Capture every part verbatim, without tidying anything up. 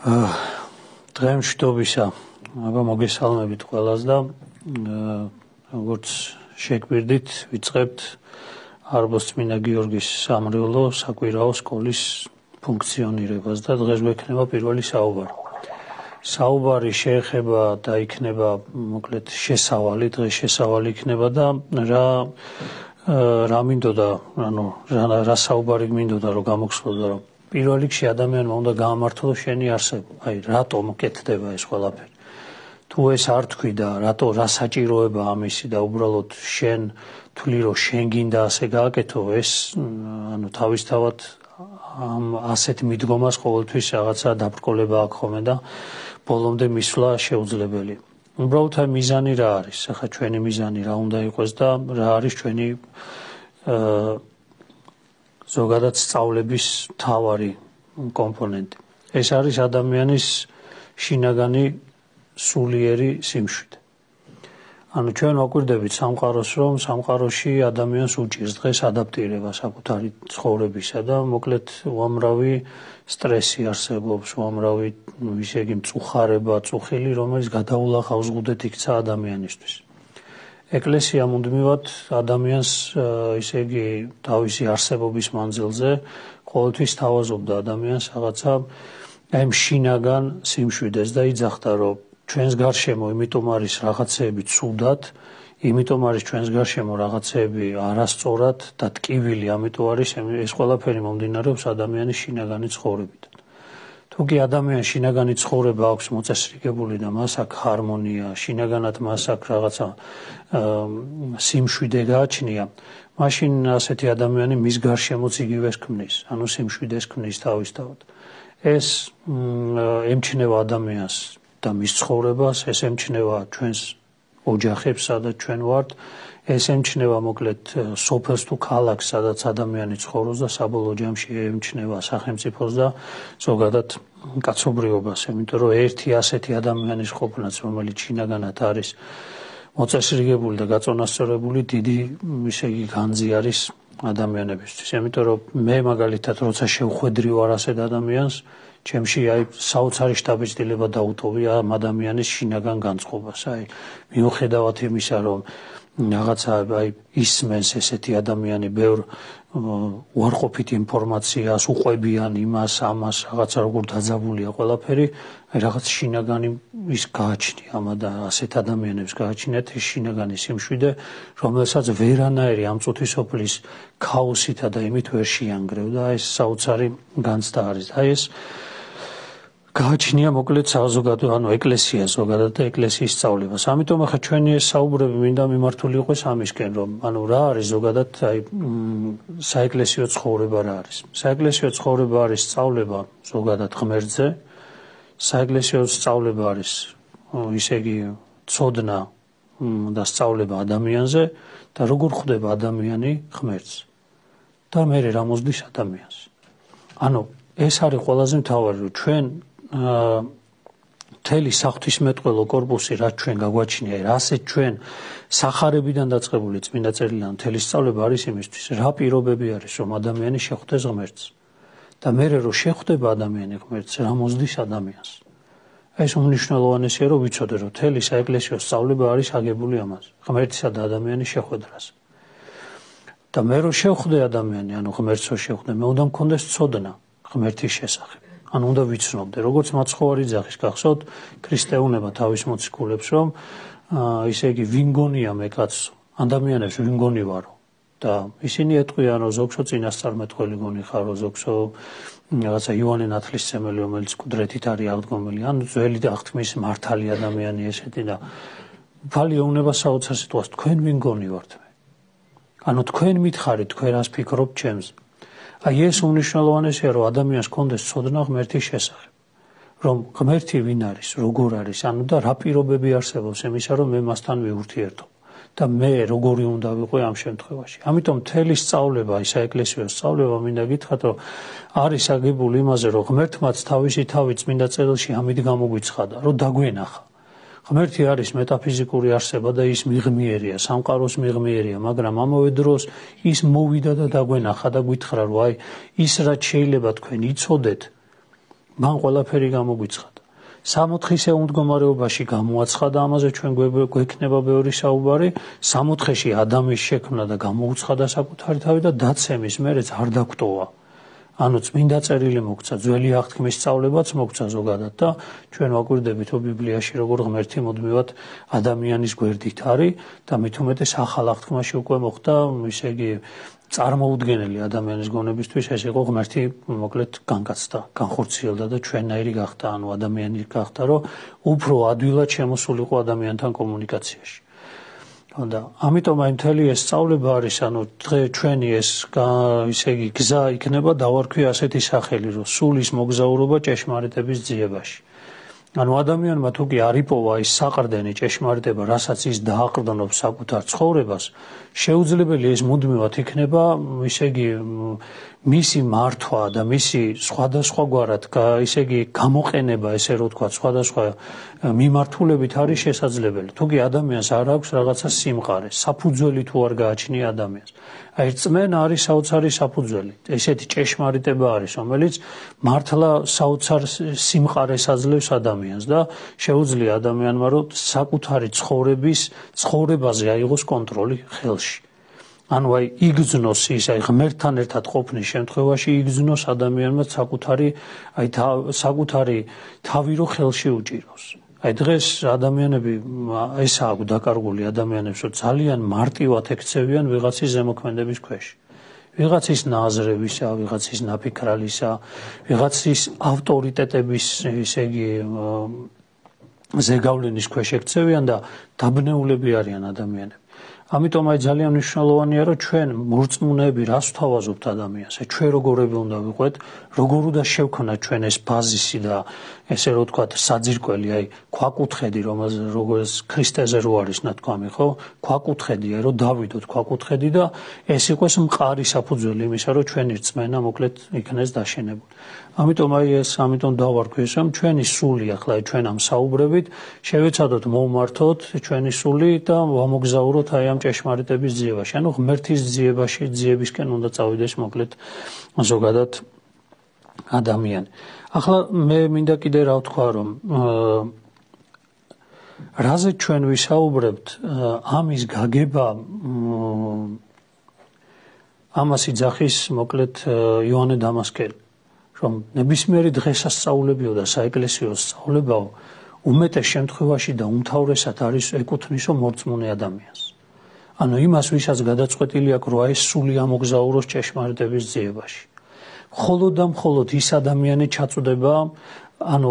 დღემშვიდობისა, აბა მოგესალმებით ყველას და როგორც შეგვირდით, ვიწყებთ არბოსწმინდა გიორგის სამრევლო საკვირაო სკოლის ფუნქციონირებას და დღეს გვექნება პირველი საუბარი. საუბარი შეეხება და იქნება მოკლედ შესავალი, დღეს შესავალი იქნება და რა რა მინდოდა, ანუ რა საუბარი მინდოდა რომ გამოგხსოვდა რომ პირველ რიგში ადამიანმა უნდა გაამართლოს შენი არსება. აი, რატომ კეთდება ეს ყველაფერი? თუ ეს არ თქვი და რატო რა საჭიროება ამისი და უბრალოდ შენ თვლი რომ შენ გინდა ასე გააკეთო, ეს ანუ თავისთავად ამ ასეთ მიდგომას ყოველთვის რაღაცა დაბრკოლება აქვს ხოლმე და ბოლომდე მისვლა შეუძლებელი. უბრალოდ აი მიზანი რა არის? ახლა ჩვენი მიზანი რა უნდა იყოს და რა არის ჩვენი აა ზოგადად სწავლების მთავარი კომპონენტი. ეს არის ადამიანის შინაგანი სულიერი სიმშვიდე. ანუ ჩვენ ვაკვირდებით სამყაროს, რომ სამყაროში ადამიანს უჭირს დღეს ადაპტირება საკუთარი ცხოვრებისა და მოკლედ უამრავი სტრესი არსებობს, უამრავი ისე იგი მწუხარება, წუხილი, რომელიც გადაულახავს ზღუდეთ იქცა ადამიანისთვის. ეკლესია მუდმივად ადამიანს ისე იგი თავისი არსებობის მანძილზე ყოველთვის თავაზობდა ადამიანს რაღაცა აი შინაგან სიმშვიდეს და იძახდა რომ ჩვენს გარშემო იმიტომ არის რაღაცეები ცუდად, იმიტომ არის ჩვენს გარშემო რაღაცეები არასწორად და ტკივილი, ამიტომ არის ეს ყველაფერი მომდინარეობს ადამიანის შინაგანი ცხოვრებიდან. თუ კი ადამიანს შინაგანი ცხოვრება აქვს მოწესრიგებული და მას აქვს ჰარმონია, შინაგანად მას აქვს რაღაცა სიმშვიდე გააჩნია, მაშინ ასეთი ადამიანი მის გარშემოც იგივეს ქმნის, ანუ სიმშვიდეს ქმნის თავისთავად. ეს ემჩნევა ადამიანს და მის ცხოვრებას, ეს ემჩნევა ჩვენს ოჯახებს, სადაც ჩვენ ვართ, ეს ემჩნევა მოკლედ სოფელს თუ ქალაქს, სადაც ადამიანი ცხოვრობს და საბოლოო ჯამში ემჩნევა სახელმწიფოს და ზოგადად კაცობრიობას, იმიტომ რომ ერთი ასეთი ადამიანის ყოფნაც, რომელიც შინაგანად არის მოწესრიგებული და გაწონასწორებული, დიდი ისე იგი განძი არის ადამიანებისთვის. იმიტომ რომ მე მაგალითად როცა შევხვედრი ვარ ასეთ ადამიანს, ჩემში აი საოცარი შთაბეჭდილება დაუტოვია ამ ადამიანის შინაგან განწყობას. აი მიუხედავად იმისა, რომ რაღაცა აი ისმენს ესეთი ადამიანი ბევრ უარყოფით ინფორმაციას, უყვებიან იმას, ამას, რაღაცა როგორ დაძაბულია ყველაფერი, აი რაღაც შინაგანი ის გააჩნია ამ და ასეთ ადამიანებს გააჩნიათ ეს შინაგანი სიმშვიდე, რომელსაც ვერანაირი ამ წუთისოფლის ქაოსითა და იმით ვერ შეანგრევ და ეს საოცარი განცდა არის. აი ეს გააჩნია მოკლედ საზოგადო, ანუ ეკლესია ზოგადად და ეკლესიის სწავლებას. ამიტომ ახლა ჩვენი ეს საუბრები მინდა მიმართული იყოს ამისკენ, რომ ანუ რა არის ზოგადად აი საეკლესიო ცხოვრება რა არის? საეკლესიო ცხოვრება არის სწავლება ზოგადად ღმერთზე, საეკლესიო სწავლება არის ისე იგი ცოდნა და სწავლება ადამიანზე და როგორ ხვდება ადამიანი ღმერთს და მე რა მოსდის ადამიანს. ანუ ეს არის ყველაზე მთავარი, რომ ჩვენ მთელი საღვთისმეტყველო კორპუსი რაც ჩვენ გაგვაჩნია, რასაც ჩვენ სახარებიდან დაწყებული წმინდა წერილიდან მთელი სწავლება არის იმისთვის, რა პირობები არის, რომ ადამიანი შეხვდეს ღმერთს და მე რო შეხვდება ადამიანი ღმერთს, რა მოსდის ადამიანს. ეს უმნიშვნელოვანესია, რომ ვიცოდე, რომ მთელი საეკლესიო სწავლება არის აგებული ამაზე, ღმერთისა და ადამიანის შეხვედრაზე. და მე რო შევხვდე ადამიანი, ანუ ღმერთს რო შევხვდე, მე უნდა მქონდეს ცოდნა ღმერთის შესახებ. ანუ უნდა ვიცნობდე, როგორც მაცხოვარი ძაღის გახსოვთ, ქრისტეუნება თავის მოციქულებს, რომ ისე იგი ვინგონია მე კაცო, ადამიანებს ვინგონი ვარო და ისინი ეტყვიან, რომ ზოგსო წინასწარმეტყველი გონი ხარო, ზოგსო რაღაცა იოანე ნათლისმცემელი, რომელიც მკვდრეთით არის აღდგომილი, ან ძველი აღთქმის მართალი ადამიანი ესეთი და ფალი ეუნება საოცარ სიტყვას, თქვენ ვინგონი ვართ მე. ანუ თქვენ მითხარით, თქვენ რას ფიქრობთ ჩემზე. აი ეს უმნიშვნელოვანესია, რომ ადამიანს კონდეს ცოდნა ღმერთის შესახებ, რომ ღმერთი ვინ არის, როგორ არის, ანუ და რა პირობები არსებობს იმისა, რომ მე მასთან ვიურთიერთობ და მე როგორი უნდა ვიყო ამ შემთხვევაში. ამიტომ მთელი სწავლება, ის საეკლესიო სწავლება მინდა გითხრათ, რომ არის აგებული იმაზე, რომ ღმერთმაც თავისი თავი წმინდა წერილში ამით გამოგვიცხადა, რომ დაგვენახა. ღმერთი არის მეტაფიზიკური არსება და ის მიღმიერია, სამყაროს მიღმიერია, მაგრამ ამავე დროს ის მოვიდა და დაგვენახა და გითხრა, რომ აი ის რაც შეიძლება თქვენ იცოდეთ, მან ყველაფერი გამოგვიცხადა. სამოთხის ეუმდგომარეობაში გამოაცხადა ამაზე ჩვენ გვექნება ბევრი საუბარი, სამოთხეში ადამიანის შექმნა და გამოუცხადა საკუთარი თავი და დაცემის მერეც არ დაგტოვა. ანუ წმინდა წერილი მოგცა, ძველი აღთქმის სწავლებაც მოგცა ზოგადად და ჩვენ ვაკვირდებით ბიბლიაში როგორ ღმერთი მუდმივად ადამიანის გვერდით არის და მით უმეტეს ახალ აღთქმაში უკვე მოხდა, ისე იგი წარმოუდგენელი ადამიანის გონებისთვის ეს იყო ღმერთი მოკლედ განკაცდა, განხორციელდა და ჩვენნაირი გახდა, ანუ ადამიანი გახდა, რომ უფრო ადვილად შემოსულიყო ადამიანთან კომუნიკაციაში. და ამიტომ აი მთელი ეს სწავლება არის, ანუ დღე ჩვენი ეს ისე იგი გზა იქნება დავარქვი ასეთი სახელი, რომ სულის მოგზაურობა ჭეშმარიტების ძიებაში. ანუ ადამიანმა თუ კი არ იპოვა ის საყრდენი ჭეშმარიტება, რასაც ის დააყრდნობს საკუთარ ცხოვრებას, შეუძლებელი ეს მუდმივად იქნება, ისე იგი მისი მართვა და მისი სხვადასხვაგვარად, ისე იგი გამოყენება, ესე რომ ვთქვათ, სხვადასხვა მიმართულებით არის შესაძლებელი. თუ კი ადამიანს არ აქვს რაღაცა სიმყარე, საფუძველი თუ არ გააჩნია ადამიანს. აი რწმენა არის საოცარი საფუძველი. ესეთი ჭეშმარიტება არის, რომელიც მართლა საოცარ სიმყარეს აძლევს ადამიანს და შეუძლია ადამიანმა რომ საკუთარი ცხოვრების ცხოვრებაზე აიღოს კონტროლი ხელში. ანუ აი იგრძნოს ის აი ღმერთთან ერთად ყოფნის შემთხვევაში იგრძნოს ადამიანმა საკუთარი აი საკუთარი თავი რო ხელში უჭიროს. აი დღეს ადამიანები ეს აქვს დაკარგული ადამიანებს, რომ ძალიან მარტივად ექცევიან ვიღაცის ზემოქმედების ქვეშ. ვიღაცის ნაზრებისა, ვიღაცის ნაფიქრალისა, ვიღაცის ავტორიტეტების, ისე იგი ზეგავლენის ქვეშ ექცევიან და დაბნეულები არიან ადამიანები. ამიტომ აი ძალიან მნიშვნელოვანია, რომ ჩვენ მორწმუნეები რას ვთავაზობთ ადამიანს, აი ჩვენ როგორები უნდა ვიყვეთ, როგორ უნდა შევქნათ ჩვენ ეს ბაზისი და ესე რომ ვთქვათ, საძირკველი, აი ქვაკუთხედი, რომელზე როგორც ქრისტეზე რო არის ნათქვამი, ხო? ქვაკუთხედი, აი რომ დავიდოთ ქვაკუთხედი და ეს იყოს მყარი საფუძველი იმისა, რომ ჩვენი რწმენა მოკლედ იქნეს დაშენებული. ამიტომ აი ეს, ამიტომ დავარქვი ეს, რომ ჩვენი სული ახლა აი ჩვენ ამ საუბრებით შევეცადოთ მოვმართოთ ჩვენი სული და ვამოგზაუროთ აი ამ ჭეშმარიტების ძიებაში. ანუ ღმერთის ძიებაში, ძიებისკენ უნდა წავიდეს მოკლედ ზოგადად ადამიანი. ახლა მე მინდა კიდე რა ვთქვა, რომ რაზე ჩვენ ვისაუბრებთ, ამის გაგება ამას იძახის მოკლედ იოანე დამასკელი, რომ ნებისმიერი დღესასწაულებიო და საეკლესიო სწავლებაო უმეტეს შემთხვევაში და უმთავრესად არის ეკუთვნისო მორწმუნე ადამიანს. ანუ იმას, ვისაც გადაწყვეტილი აქვს, რომ ეს სული ამოგზაუროს ჭეშმარიტების ძიებაში. მხოლოდ და მხოლოდ ის ადამიანი ჩაწვდება, ანუ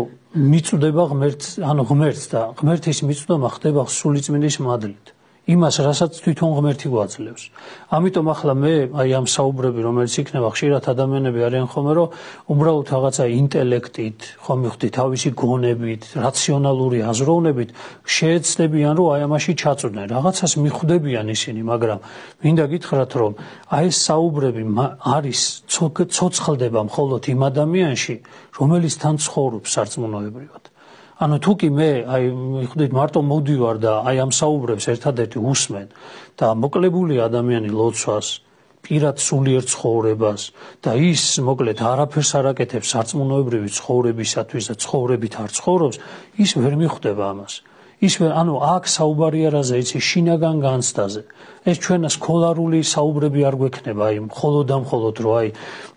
მიწვდება ღმერთს, ანუ ღმერთს და ღმერთის მიწვდება ხდება სულიწმინდის მადლით. იმას, რასაც თვითონ ღმერთი გვაძლევს. ამიტომ ახლა მე აი ამ საუბრები, რომელიც იქნება ხშირად ადამიანები არიან ხოლმე, რომ უბრალოდ რაღაცა ინტელექტით, ხომ მივხვდი თავისი გონებით, რაციონალური აზროვნებით შეეცდებიან, რომ აი ამაში ჩაწვდნენ. რაღაცას მიხვდებიან ისინი, მაგრამ მინდა გითხრათ, რომ აი ეს საუბრები არის ცოცხლდება მხოლოდ იმ ადამიანში, რომელიც თან ცხოვრობს სარწმუნოებრივად. ანუ თუ კი მე აი ხვდით მარტო მოვდივარ და აი ამ საუბრებს ერთადერთი უსმენ და მოკლებული ადამიანი ლოცვას, პირად სულიერ ცხოვრებას და ის მოკლედ არაფერს არ აკეთებს სარწმუნოებრივი ცხოვრებისათვის და ცხოვრებით არ ცხოვრობს, ის ვერ მიხვდება ამას. ის ვერ, ანუ აქ საუბარია რაზე, იცი, შინაგან განცდაზე. ეს ჩვენა სკოლარული საუბრები არ გვექნება, აი მხოლოდ და მხოლოდ რომ აი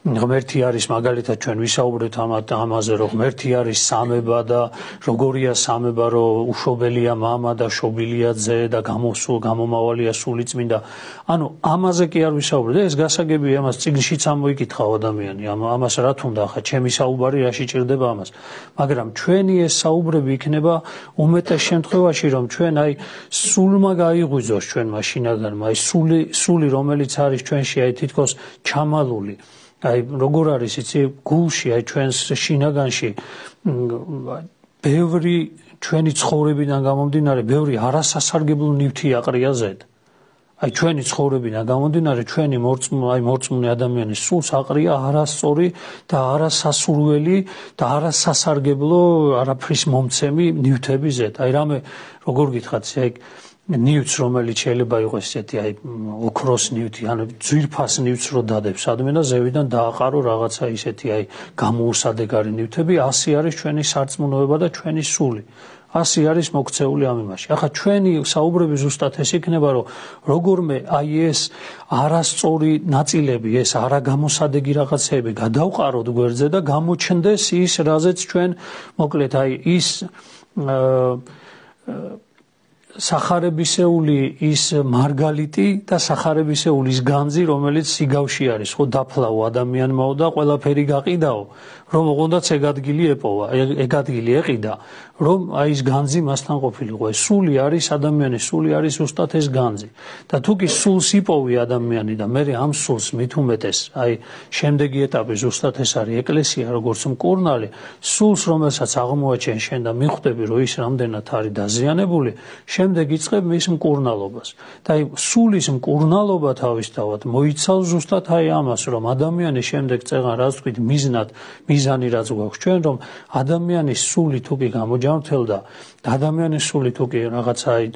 ღმერთი არის, მაგალითად ჩვენ ვისაუბრეთ ამაზე, რომ ღმერთი არის სამება და როგორია სამება, რომ უშობელია მამა და შობილია ძე და გამოსულ გამომავალია სულიწმინდა. ანუ ამაზე კი არ ვისაუბრეთ. ეს გასაგებია, ამას წიგნშიც ამოიკითხავ ადამიანი, ამას რა თუნდა ხა ჩემი საუბარი რაში ჭირდება ამას. მაგრამ ჩვენი ეს საუბრები იქნება უმეტეს შემთხვევაში, რომ ჩვენ აი სულმა გაიღვიძოს ჩვენმა შინაგან აი სული სული რომელიც არის ჩვენში აი თითქოს ჩამალული აი როგორ არის იცი გულში აი ჩვენს შინაგანში ბევრი ჩვენი ცხოვრებიდან გამომდინარე ბევრი არასასარგებლო ნივთი აყრია ზედ აი ჩვენი ცხოვრებიდან გამომდინარე ჩვენი მორწმუნე აი მორწმუნე ადამიანის სულს აყრია არასწორი და არასასურველი და არასასარგებლო არაფრის მომცემი ნივთები ზედ აი რამე როგორ გითხრათ აი ნივთს, რომელიც შეიძლება იყოს ესეთი აი ოქროს ნივთი, ან ძვირფას ნივთს რო დადებს სადმე და ზევიდან დააყარო რაღაცა ისეთი აი გამოუსადეგარი ნივთები, ასი არის ჩვენი სარწმუნოება და ჩვენი სული. ასი არის მოქცეული ამ იმაში. ახლა ჩვენი საუბრები ზუსტად ეს იქნება, რომ როგორმე აი ეს არასწორი ნაწილები, ეს არაგამოსადეგი რაღაცეები გადავყაროთ გვერდზე და გამოჩნდეს ის, რაზეც ჩვენ მოკლედ აი ის სახარებისეული ის მარგალიტი და სახარებისეული ის განძი, რომელიც სიგავში არის, ხო დაფლავო ადამიანმაო და ყველაფერი გაყიდაო, რომ ოღონდაც ეგ ადგილი ეპოვა, ეგ ადგილი ეყიდა, რომ აი ეს განძი მასთან ყოფილიყო. სული არის ადამიანის, სული არის ზუსტად ეს განძი. და თუ კი სულს იპოვი ადამიანი და მე ამ სულს მით უმეტეს, აი შემდეგი ეტაპი ზუსტად ეს არის ეკლესია, როგორც მკურნალი, სულს რომელსაც აღმოაჩენ შენ და მიხვდები, რომ ის რამდენად არის დაზიანებული, შემდეგ იწყებ მის მკურნალობას. და აი სულის მკურნალობა თავისთავად მოიცავს ზუსტად აი ამას, რომ ადამიანი შემდეგ წეღან რაც ვთქვით მიზნად, მიზანი რაც გვაქვს ჩვენ, რომ ადამიანის სული თუ კი გამოჯანმრთელდა, ადამიანის სული თუ კი რაღაცა აი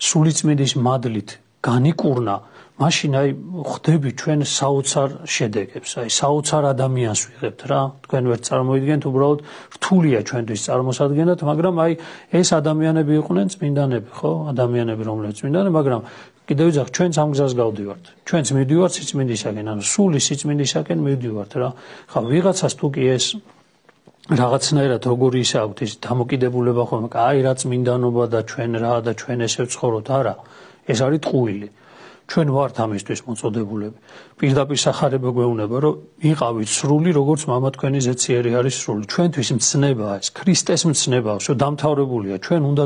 სულიწმიდის მადლით განიკურნა, მაშინ აი ხვდები ჩვენ საოცარ შედეგებს, აი საოცარ ადამიანს ვიღებთ რა. თქვენ ვერ წარმოიდგენთ, უბრალოდ რთულია ჩვენთვის წარმოსადგენად, მაგრამ აი ეს ადამიანები იყვნენ წმინდანები, ხო? ადამიანები, რომლებიც წმინდანები, მაგრამ კიდევ ვიძახ, ჩვენც ამ გზას გავდივართ. ჩვენც მივდივართ სიწმინდისაკენ, ანუ სული სიწმინდისაკენ მივდივართ რა. ხა ვიღაცას თუ კი ეს რაღაცნაირად როგორი ისე აქვთ ის დამოკიდებულება ხოლმე, აი რა წმინდანობა და ჩვენ რა და ჩვენ ესე ვცხოვროთ, არა. ეს არის ტყუილი. ჩვენ ვართ ამისთვის მოწოდებულები. პირდაპირ სახარება გვეუბნება, რომ იყავით სრული, როგორც მამა თქვენი ზეციერი არის სრული. ჩვენთვის მცნებაა ეს, ქრისტეს მცნებაა, შო დამთავრებულია. ჩვენ უნდა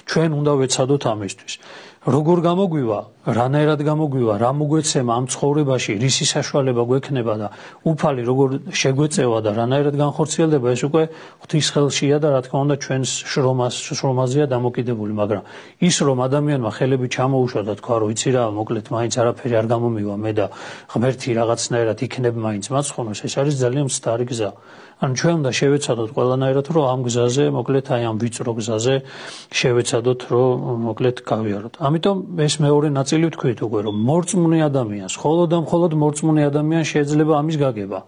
ჩვენ უნდა ვეცადოთ ამისთვის. როგორ გამოგვივა, რანაირად გამოგვივა, რა მოგვეცემა ამ ცხოვრებაში, რისი საშუალება გვექნება და უფალი როგორ შეგვეწევა და რანაირად განხორციელდება, ეს უკვე ღვთის ხელშია და რა თქმა უნდა ჩვენს შრომას შრომაზეა დამოკიდებული, მაგრამ ის რომ ადამიანმა ხელები ჩამოუშვა და თქვა, რომ იცი რა, მოკლედ მაინც არაფერი არ გამომივა მე და ღმერთი რაღაცნაირად იქნებ მაინც მაცხონოს, ეს არის ძალიან მცდარი გზა. ანუ ჩვენ უნდა შევეცადოთ ყველანაირად, რომ ამ გზაზე, მოკლედ აი ამ ვიწრო გზაზე შევეცადოთ, რომ მოკლედ გავიაროთ. ამიტომ ეს მეორე ნაწილი ვთქვით უკვე, რომ მორწმუნე ადამიანს, მხოლოდ და მხოლოდ მორწმუნე ადამიანს შეიძლება ამის გაგება.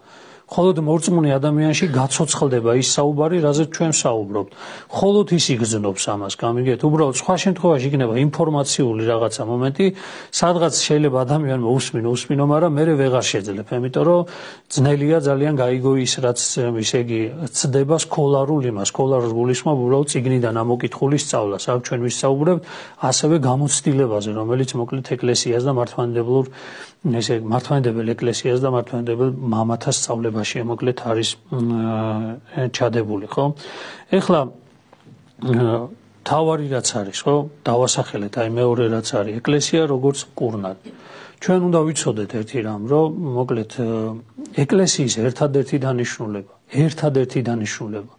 მხოლოდ მორწმუნე ადამიანში გაცოცხლდება ის საუბარი, რაზეც ჩვენ საუბრობთ. მხოლოდ ის იგრძნობს ამას, გამიგეთ? უბრალოდ სხვა შემთხვევაში იქნება ინფორმაციული რაღაცა მომენტი, სადღაც შეიძლება ადამიანმა უსმინო, უსმინო, მაგრამ მე ვეღარ შეძლებ, იმიტომ რომ ძნელია ძალიან გაიგო ის, რაც ისე იგი ცდება სკოლარულ იმას, სკოლარულ გულისხმობ უბრალოდ წიგნიდან ამოკითხული სწავლას. აქ ჩვენ ვისაუბრებთ ასევე გამოცდილებაზე, რომელიც მოკლედ ეკლესიას და მართლმადიდებლურ ესე მართლმადიდებელ ეკლესიას და მართლმადიდებელ მამათა სწავლებაში მოკლედ არის ჩადებული, ხო? ეხლა თავარი რაც არის, ხო? დავასახელეთ აი მეორე რაც არის, ეკლესია როგორც მკურნალი. ჩვენ უნდა ვიცოდეთ ერთი რამ, რომ მოკლედ ეკლესიის ერთადერთი დანიშნულება, ერთადერთი დანიშნულება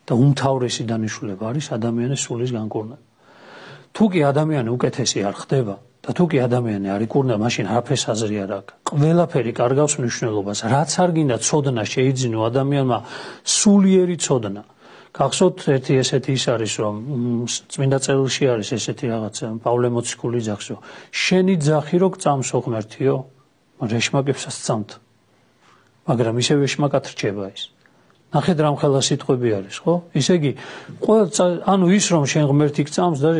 და უმთავრესი დანიშნულება არის ადამიანის სულის განკურნება. თუ კი ადამიანი უკეთესი არ ხდება და თუ კი ადამიანი არ იკურნება, მაშინ არაფერს აზრი არ აქვს. ყველაფერი კარგავს მნიშვნელობას, რაც არ გინდა ცოდნა შეიძინო ადამიანმა, სულიერი ცოდნა. გახსოვთ ერთი ესეთი ის არის, რომ წმინდა წერილში არის ესეთი რაღაცა, პავლე მოციქული ძახს, რომ შენი ძახი რო გწამსო ღმერთიო, რეშმაკებსაც წამთ. მაგრამ ისევ ეშმაკად რჩება ის. ნახეთ რამ ხელა სიტყვები არის, ხო? ისე იგი, ანუ ის რომ შენ ღმერთი გწამს და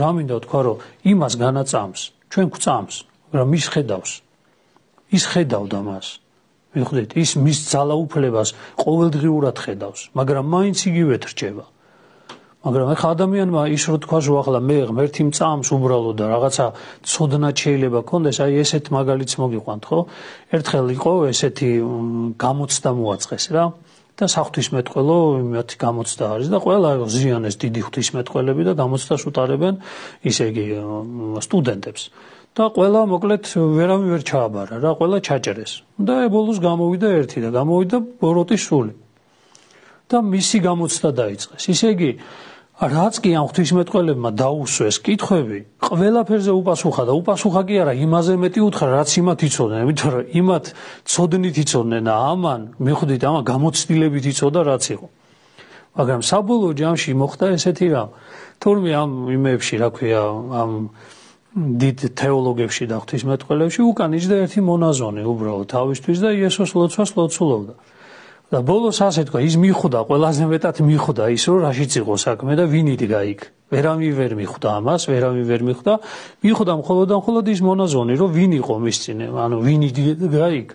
რა მინდა თქვა, რომ იმას განაწამს, ჩვენ გვწამს, მაგრამ ის ხედავს. ის ხედავდა მას. მიხვდით, ის მის ძალაუფლებას ყოველდღიურად ხედავს, მაგრამ მაინც იგივე რჩება. მაგრამ ახლა ადამიანმა ის რო თქვა, რომ ახლა მე ღმერთი მწამს უბრალოდ და რაღაცა ცოდნა შეიძლება კონდეს, აი ესეთ მაგალითს მოგიყვანთ, ხო? ერთხელ იყო ესეთი გამოცდა მოაწყეს რა. და საღვთისმეტყველო იმათი გამოცდა არის და ყველა ზიანეს დიდი ღვთისმეტყველები და გამოცდას უტარებენ ისე იგი სტუდენტებს. და ყველა მოკლედ ვერავინ ვერ ჩააბარა რა, ყველა ჩაჭერეს. და ბოლოს გამოვიდა ერთი და გამოვიდა ბოროტის სული. და მისი გამოცდა დაიწყეს. ისე იგი რაც კი ამ ღვთისმეტყველებმა დაუსვეს კითხვები, ყველაფერზე უპასუხა და უპასუხა კი არა, იმაზე მეტი უთხრა, რაც იმათ იცოდნენ, იმიტომ რომ იმათ ცოდნით იცოდნენ და ამან, მიხვდით, ამან გამოცდილებით იცოდა, რაც იყო. მაგრამ საბოლოო ჯამში მოხდა ესეთი რამ, თურმე ამ იმებში, რა ქვია, ამ დიდ თეოლოგებში და ღვთისმეტყველებში უკან იჯდა ერთი მონაზონი უბრალოდ თავისთვის და იესოს ლოცვას ლოცულობდა. და ბოლოს ასე თქვა, ის მიხვდა, ყველაზე მეტად მიხვდა ის, რომ რაშიც იყო საქმე და ვინ იდგა იქ. ვერავინ ვერ მიხვდა ამას, ვერავინ ვერ მიხვდა. მიხვდა მხოლოდ და მხოლოდ ის მონაზონი, რომ ვინ იყო მის წინ, ანუ ვინ იდგა იქ.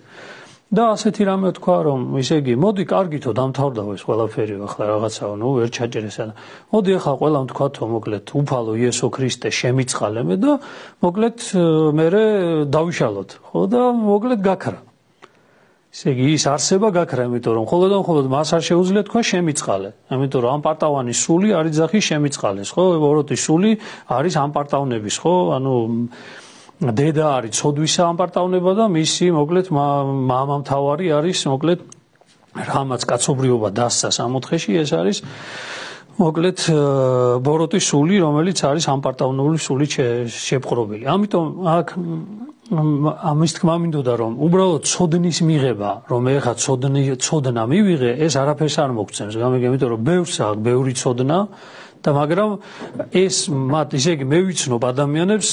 და ასეთი რამე თქვა, რომ ისე იგი, მოდი, კარგითო დამთავრდა ეს ყველაფერი, ახლა რაღაცა, ნუ ვერ ჩაჭერესა. მოდი ახლა ყველამ თქვათო, მოკლედ, უფალო იესო ქრისტე შემიწყალე და მოკლედ მე დავიშალოთ, ხო და მოკლედ გაქრა. ისე იგი ის არსება გაქრა, იმიტომ რომ მხოლოდ და მხოლოდ მას არ შეუძლია თქვა შემიწყალე. ამიტომ რომ ამ პარტავანის სული არის ძახი შემიწყალეს, ხო? ვოროტის სული არის ამ პარტავნების, ხო? ანუ დედა არის ცოდვისა ამ პარტავნება და მისი მოკლედ მამამთავარი არის მოკლედ რამაც კაცობრიობა დასცა სამოთხეში, ეს არის მოკლედ ბოროტის სული, რომელიც არის ამ პარტავნული სული შეპყრობილი. ამიტომ აქ ამის თქმა მინდოდა რომ უბრალოდ ცოდნის მიღება, რომ ეხა ცოდნი ცოდნა მივიღე, ეს არაფერს არ მოგცემს. გამიგე, იმიტომ რომ ბევრს აქვს ბევრი ცოდნა და მაგრამ ეს მათ ისე იგი მე ვიცნობ ადამიანებს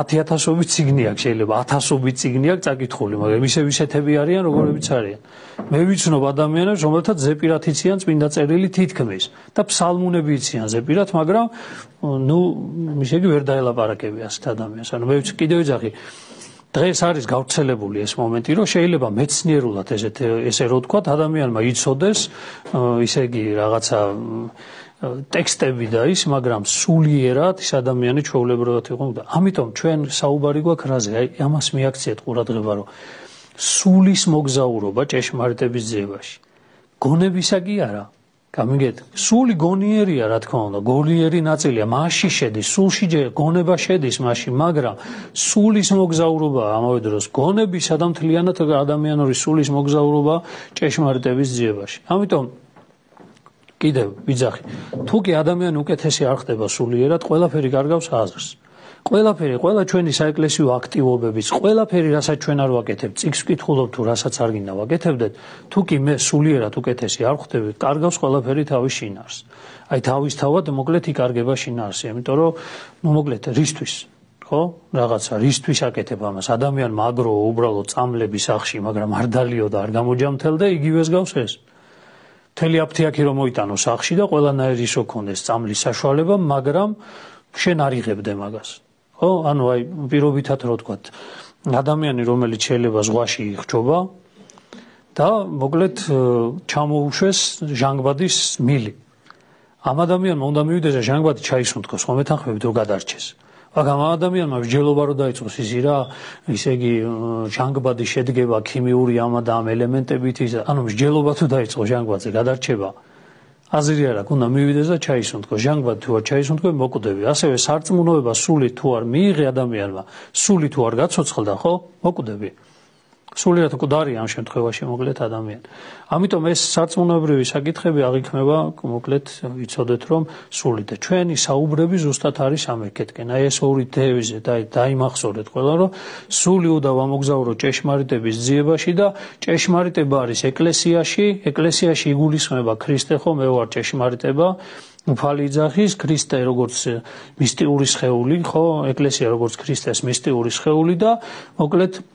ათი ათასობით წიგნი აქვს, შეიძლება ათასობით წიგნი აქვს წაკითხული, მაგრამ ისევ ისეთები არიან, როგორებიც არიან. მე ვიცნობ ადამიანებს, რომელთაც ზეპირად იციან წმინდა წერილი თითქმის და ფსალმუნები იციან ზეპირად, მაგრამ ნუ ისე იგი ვერ დაელაპარაკები ასეთ ადამიანს. ანუ მე ვიცი კიდევ ეძახი დღეს არის გავრცელებული ეს მომენტი, რომ შეიძლება მეცნიერულად ესეთ ესე რო ვთქვათ, ადამიანმა იცოდეს, ისე იგი რაღაცა ტექსტები და ის, მაგრამ სულიერად ის ადამიანი ჩვეულებრივად იყო და ამიტომ ჩვენ საუბარი გვაქვს რაზე, აი ამას მიაქციეთ ყურადღება, რომ სულის მოგზაურობა ჭეშმარიტების ძიებაში. გონებისა კი არა. გამიგეთ, სული გონიერია, რა თქმა უნდა, გონიერი ნაწილია, მასში შედის, სულში გონება შედის მასში, მაგრამ სულის მოგზაურობა ამავე დროს გონებისა და მთლიანად ადამიანური სულის მოგზაურობა ჭეშმარიტების ძიებაში. ამიტომ კიდევ ვიძახი, თუ კი ადამიანი უკეთესი არ ხდება სულიერად, ყველაფერი კარგავს აზრს. ყველაფერი, ყველა ჩვენი საეკლესიო აქტივობებიც, ყველაფერი, რასაც ჩვენ არ ვაკეთებთ, წიგნს ვკითხულობ თუ რასაც არ გინდა ვაკეთებდეთ, თუ კი მე სულიერად უკეთესი არ ხდები, კარგავს ყველაფერი თავის შინაარს. აი თავისთავად მოკლედ იკარგება შინაარსი, იმიტომ რომ ნუ მოკლედ რისთვის, ხო? რაღაცა რისთვის აკეთებ ამას? ადამიანმა აგრო უბრალოდ წამლების სახში, მაგრამ არ დალიოდა, არ გამოჯამთელდა, იგივეს გავს ეს. მთელი აფთიაქი რომ მოიტანო სახში და ყველანაირი ისო ქონდეს წამლის საშუალება, მაგრამ შენ არ იღებდე მაგას. ხო, ანუ აი პირობითად რო ვთქვათ, ადამიანი რომელიც შეიძლება ზღვაში იხჯობა და მოკლედ ჩამოუშვეს ჟანგბადის მილი. ამ ადამიანმა უნდა მივიდეს და ჟანგბადი ჩაისუნთქოს, ხომ ეთანხმებით რომ გადარჩეს. მაგრამ ამ ადამიანმა მსჯელობა რო დაიწყოს ისი რა, ისე იგი ჟანგბადი შედგება ქიმიური ამა და ამ ელემენტებით, ის ანუ მსჯელობა თუ დაიწყო ჟანგბადზე გადარჩება. აზრი არ აქვს, უნდა მივიდეს და ჩაისუნთქოს. ჟანგბადი თუ არ ჩაისუნთქო, მოკუდები. ასევე სარწმუნოება სული თუ არ მიიღე ადამიანმა, სული თუ არ გაცოცხლდა, ხო? მოკუდები. სულიერად მკვდარია ამ შემთხვევაში მოკლედ ადამიანი. ამიტომ ეს სარწმუნოებრივი საკითხები აღიქმება მოკლედ ვიცოდეთ რომ სული და ჩვენი საუბრები ზუსტად არის ამერკეთკენ. აი ეს ორი დევიზი და დაიმახსოვრეთ ყველა რომ სული უნდა ვამოგზაუროთ ჭეშმარიტების ძიებაში და ჭეშმარიტება არის ეკლესიაში, ეკლესიაში იგულისხმება ქრისტე, ხო, მე ვარ ჭეშმარიტება. უფალი იძახის, ქრისტე როგორც მისტიური სხეული, ხო, ეკლესია როგორც ქრისტეს მისტიური სხეული და მოკლედ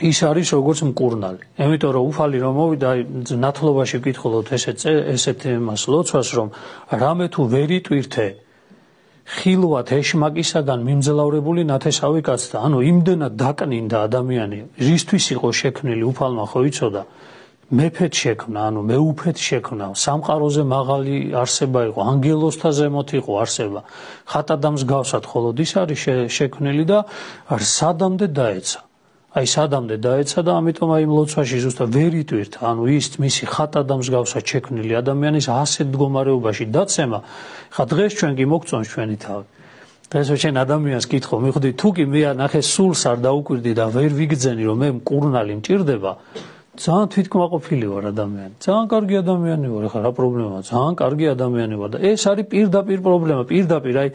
ის არის როგორც მკურნალი. Ემიტომ რომ უფალი რომ მოვიდა ნათლობაში ვკითხულობთ ესეთ ესეთ მას ლოცვას რომ რამე თუ ვერ იტვირთე ხილვად ეშმაკისაგან მიმძლავრებული ნათესავი კაცთა. ანუ იმდენად დაკნინდა ადამიანი, რისთვის იყო შექმნილი უფალმა ხო იცოდა? მეფეთ შექმნა, ანუ მეუფეთ შექმნა, სამყაროზე მაღალი არსება იყო, ანგელოსთა ზემოთ იყო არსება. ხატად მსგავსად მხოლოდ ის არის შექმნილი და სადამდე დაეცა. აი სადამდე დაეცა და ამიტომ აი ლოცვაში ზუსტად ვერ იტვირთა, ანუ ის მისი ხატად მსგავსად შექმნილი ადამიანის ასეთ მდგომარეობაში დაცემა. ხა დღეს ჩვენ კი მოგწონს ჩვენი თავი. დღეს ჩვენ ადამიანს კითხო, მიხვდი თუ კი მე ნახე სულს არ დაუკვირდი და ვერ ვიგძენი რომ მე მკურნალი მჭირდება, ძალიან თვითკმაყოფილი ვარ ადამიანი. ძალიან კარგი ადამიანი ვარ, ხა რა პრობლემაა? ძალიან კარგი ადამიანი ვარ და ეს არის პირდაპირ პრობლემა, პირდაპირ აი